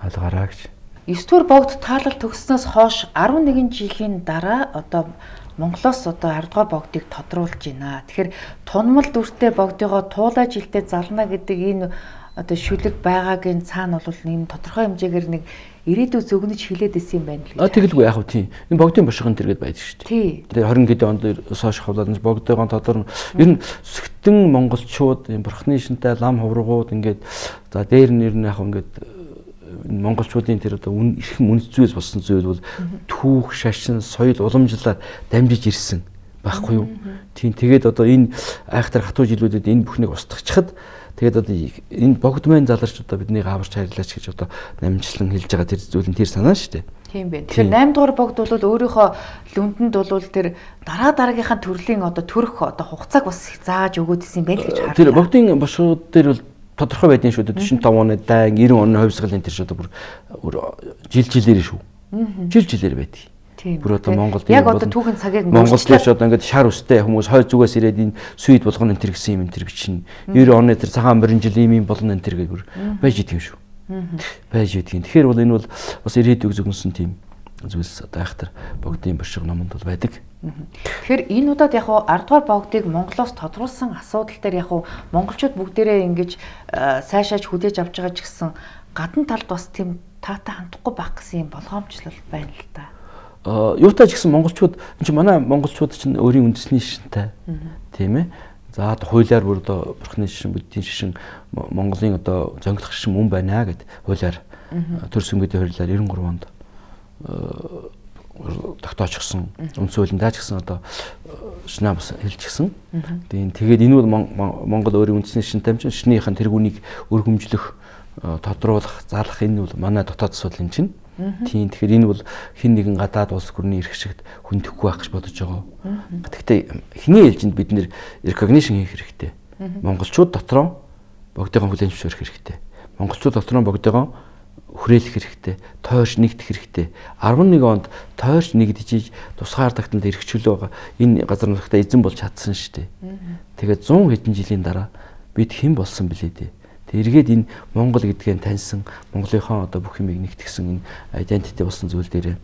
ойлгоорой гэж. девять дугаар богд таалал төгснөөс хойш арван нэгэн жилийн дараа одоо Монголоос одоо арав дугаар богдыг тодруулж байна. Тэгэхээр тунмал дүртэй богдыгоо туулай жилдээ зална гэдэг энэ одоо шүлэг байгаагийн цаана бол нэг тодорхой хэмжээгээр нэг ирээдүй зөгнөж хилээд исэн юм байна л гэж. А тэгэлгүй яах вэ тийм. Энэ богдын бошгон тэргээд байдаг шүү дээ. Тий. Тэгээ двадцать гэд онд сошиал хавлаад богдойгоо тодорно. Ер нь сүхтэн монголчууд энэ бурхны шинтэй лам ховрогууд ингээд за дээр нь ер нь яг ингээд монголчуудын тэр одоо эрхэм үнэт зүйлс болсон зүйл бол түүх, шашин, соёл уламжлалаар дамжиж ирсэн байхгүй юу? Тийм тэгээд одоо энэ айхтар хатуу жилүүдэд энэ бүхнийг устгахчахад тэгээд одоо энэ богд мэн заларч одоо бидний гаварч хайрлаач гэж одоо намжлан хэлж байгаа тэр зүйл нь тэр санаа шүү дээ. Тийм байна. Тэгэхээр восемь дугаар богд бол өөрийнхөө лүндэнд бол тэр дараа дараагийнхаа төрлийн одоо төрөх одоо хугацааг бас зааж өгөөд исэн байл гэж харлаа. Тэр богдын бошгууд дээр бол тодорхой байдгийн шүү дээ. четирнадцать оны дайн девяносто оны хувьсгалын тэр шүү дээ бүр жил жилээр шүү. Жил жилээр байдаг. Тийм. Бүр одоо Монголд яг одоо түүхэн цагийг Монголд ч одоо ингээд шар үстэй хүмүүс хойд зүгээс ирээд энэ сүйд болгоно энэ төр гэсэн юм энэ төр бичнэ. девяносто оны тэр цагаан морин жил ийм юм болно энэ төр гэж бүр байж идэв шүү. Байж идэв. Тэгэхээр бол энэ бол бас ирээдүйг зөвгөнсөн тийм зүйлс одоо айхтар богдын бошиг номонд бол байдаг. Тэгэхээр энэ удаад яг уу арав дугаар богдыг Монголоос тодруулсан асуудал дээр яг уу монголчууд бүгдээрээ ингэж сайшааж хүлээж авч байгаа ч гэсэн гадна талд бас тийм таатай хандахгүй байх гэсэн юм болгоомжлол байна л да. Аа юутай ч гэсэн монголчууд энэ чинь манай монголчууд чинь өөрийн үндэсний шишинтэй тийм ээ. За одоо хуулиар бүр одоо бурхны шишин, буддийн шишин, Монголын одоо зөнгөлөх шишин мөн байна гэд хуулиар төр сүмгүүдийн хуулиар девяносто три онд тогтоочсон. Үндсэн хуулиндаа ч гэсэн одоо шинэ бас хэлчихсэн. Тэгээд энэ бол Монгол өөрийн үндэсний шишинтэй юм чинь шинийхэн тэргүүнийг өр хөмжлөх, тодруулах, заалах энэ бол манай дотоод асуудал юм чинь. Тийм тэгэхээр энэ бол хэн нэгэн гадаад улс гүрний эрх шигт хүндэхгүй байх гэж бодож байгаа. Гэхдээ эхний ээлжинд бид нэр recognition хийх хэрэгтэй. Монголчууд дотроо богдойгоо хүлээн зөвшөөрөх хэрэгтэй. Монголчууд дотроо богдойгоо хүрээлэх хэрэгтэй, тойрч нэгдэх хэрэгтэй. арван нэг онд тойрч нэгдэж тусгаар тагтанд эрхчлөө байгаа энэ газар нутагта эзэн болж чадсан шүү дээ. Тэгээд зуун хэдэн жилийн дараа бид хэн болсон бэлээ дээ. Тэг эргээд энэ Монгол гэдгийг таньсан, Монголынхоо одоо бүх юмыг нэгтгсэн энэ identity болсон зүйл дээр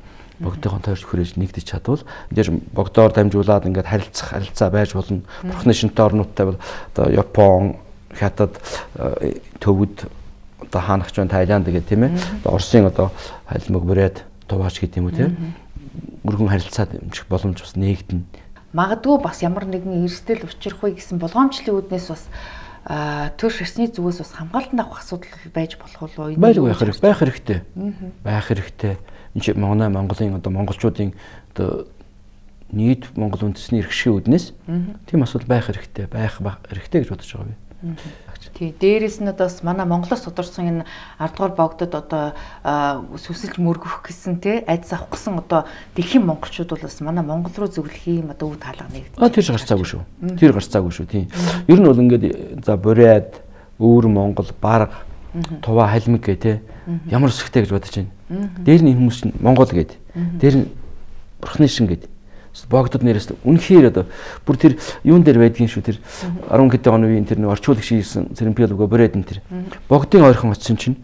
богдынхон тойрч хүрээж нэгдэж чадвал энэ богдоор дамжуулаад ингээд харилцах харилцаа байж болно. Бурхны шинтэй орнуудтай бол одоо Япон, Хятад, Төвөд, одоо хаанагч байна, Тайланд гэх тийм ээ. Одоо Оросын одоо халимаг бүрээд туваач гэдэг юм уу тийм. Өргөн харилцаа дэмжих боломж бас нээгдэнэ. Магадгүй бас ямар нэгэн эрсдэл учрах вэ гэсэн болгоомжлын үүднээс бас төр шашны зүгээс бас хамгаалтанд авах асуудал байж болох уу? Байлгүй байх хэрэгтэй. Байх хэрэгтэй. Байх хэрэгтэй. Энд чи Монголын Монголын одоо монголчуудын одоо нийт Монгол үндэсний эрхшийн үүднээс тийм асуудал байх хэрэгтэй. Байх хэрэгтэй гэж бодож байгаа би. Тий, дээрээс нь одоо бас манай Монголоос тодорсон энэ ардугаар богдод одоо сүсэлж мөргөх гэсэн тий айдас авах гэсэн одоо дэлхийн монголчууд бол бас манай Монгол руу зөвлөх юм одоо үе таалга нэгдэж. А тэр гарцаагүй шүү. Тэр гарцаагүй шүү тий. Ер нь бол ингээд за бурайд өвөр Монгол бараг туваа халимаг гэ тий ямар өсөхтэй гэж бодож байна. Дээр нь энэ хүмүүс чинь Монгол гээд. Дээр нь бурхны шин гээд. Богдод нэрээс үнэхээр одоо бүр тэр юун дээр байдгийн шүү тэр арван хэдэн оны үеийн тэр нэг орчуулагч хийсэн цэрэмпиалгоо бүрээд энэ тэр богдын ойрхон очсон чинь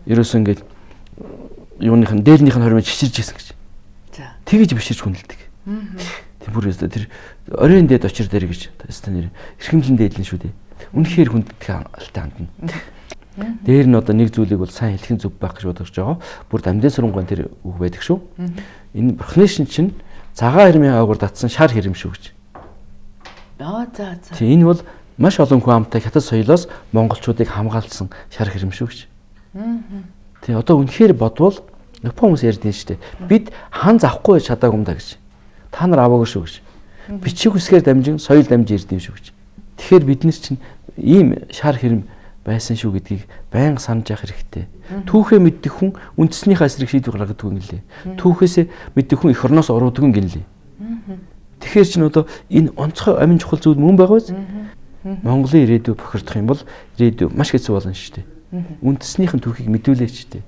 ерөөсөө ингээд юуных нь дээлнийх нь хормыг чичирж ийсэн гэж. За. Тэгэж биширч хүндэлдэг. Тэр бүр өстө тэр оройн дээд очир дээр гэж өстө нэр эрхэмлэн дээдлэн шүү дээ. Үнэхээр хүндэлдэг алтай хандна. Дээр нь одоо нэг зүйлийг бол сайн хэлхэн зөв байх гэж бодож байгаа. Бүр дамдын сурангаан тэр үг байдаг шүү. Энэ бурхны шин чинь цагаан хэрмийн ойгоор татсан шар хэрэм шүү гэж. Аа за за. Тий энэ бол маш олон хүн амтай хятад соёлоос монголчуудыг хамгаалсан шар хэрэм шүү гэж. Аа. Тий одоо үнэхээр бодвол Япон хүмүүс ярьдэн шүү дээ. Бид хан завахгүй чадаагүй юм да гэж. Та нар аваагүй шүү гэж. Бичиг үсгээр дамжин соёл дамж ирдэм шүү гэж. Тэгэхээр бид нар чинь ийм шар хэрэм байсан шүү гэдгийг байнга санаж явах хэрэгтэй. Түүхээ мэддэг хүн үндэснийхээ эсрэг шийдвэр гаргадаг юм лээ. Түүхээсээ мэддэг хүн эх орноос уруудаг юм гинлээ. Тэгэхээр чинь одоо энэ онцгой амин чухал зүйл мөн байгаа биз? Монголын ирээдүй бохирдох юм бол ирээдүй маш хэцүү болно шүү дээ. Үндэснийхэн түүхийг мэдүүлээч дээ.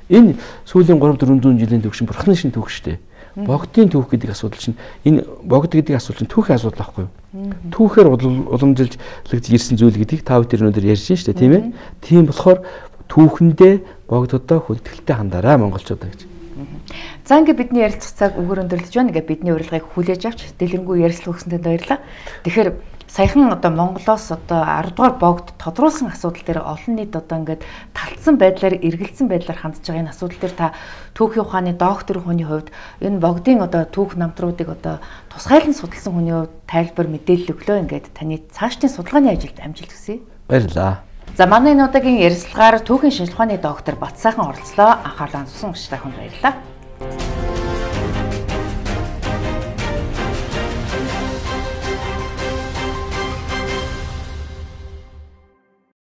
Энэ сүүлийн гурав дөрвөн жилийн түүх шин бурхны шин түүх шүү дээ. Богдын түүх гэдэг асуудал чинь энэ богд гэдэг асуудал чинь түүхийн асуудал аахгүй юу? Түүхээр уламжилж ирсэн зүйл гэдгийг та бүхэн өнөөдөр ярьж байна шүү дээ, тийм ээ? Тийм болохоор түүхэндээ богдодоо хүндэтгэлтэй хандаарай монголчуудаа гэж. За ингээд бидний ярилцах цаг өгөр өндөрлөж байна. Ингээд бидний урилгыг хүлээж авч дэлгэрэнгүй ярилцлага өгсөнтэй баярлалаа. Тэгэхээр саяхан одоо Монголоос одоо ардугаар богд тодруулсан асуудал дээр олон нийт одоо ингээд талцсан байдлаар эргэлзсэн байдлаар хандж байгаа энэ асуудал дээр та түүхийн ухааны доктор хүний хувьд энэ богдын одоо түүх намтруудыг одоо тусгайлан судалсан хүний хувьд тайлбар мэдээлэл өглөө ингээд таны цаашдын судалгааны ажилд амжилт хүсье. Баярлалаа. За манай энэ удаагийн ярилцлагаар түүхийн шинжилгээ ухааны доктор Батсайхан оролцлоо. Анхаарлаа хандсан учраас танд баярлалаа.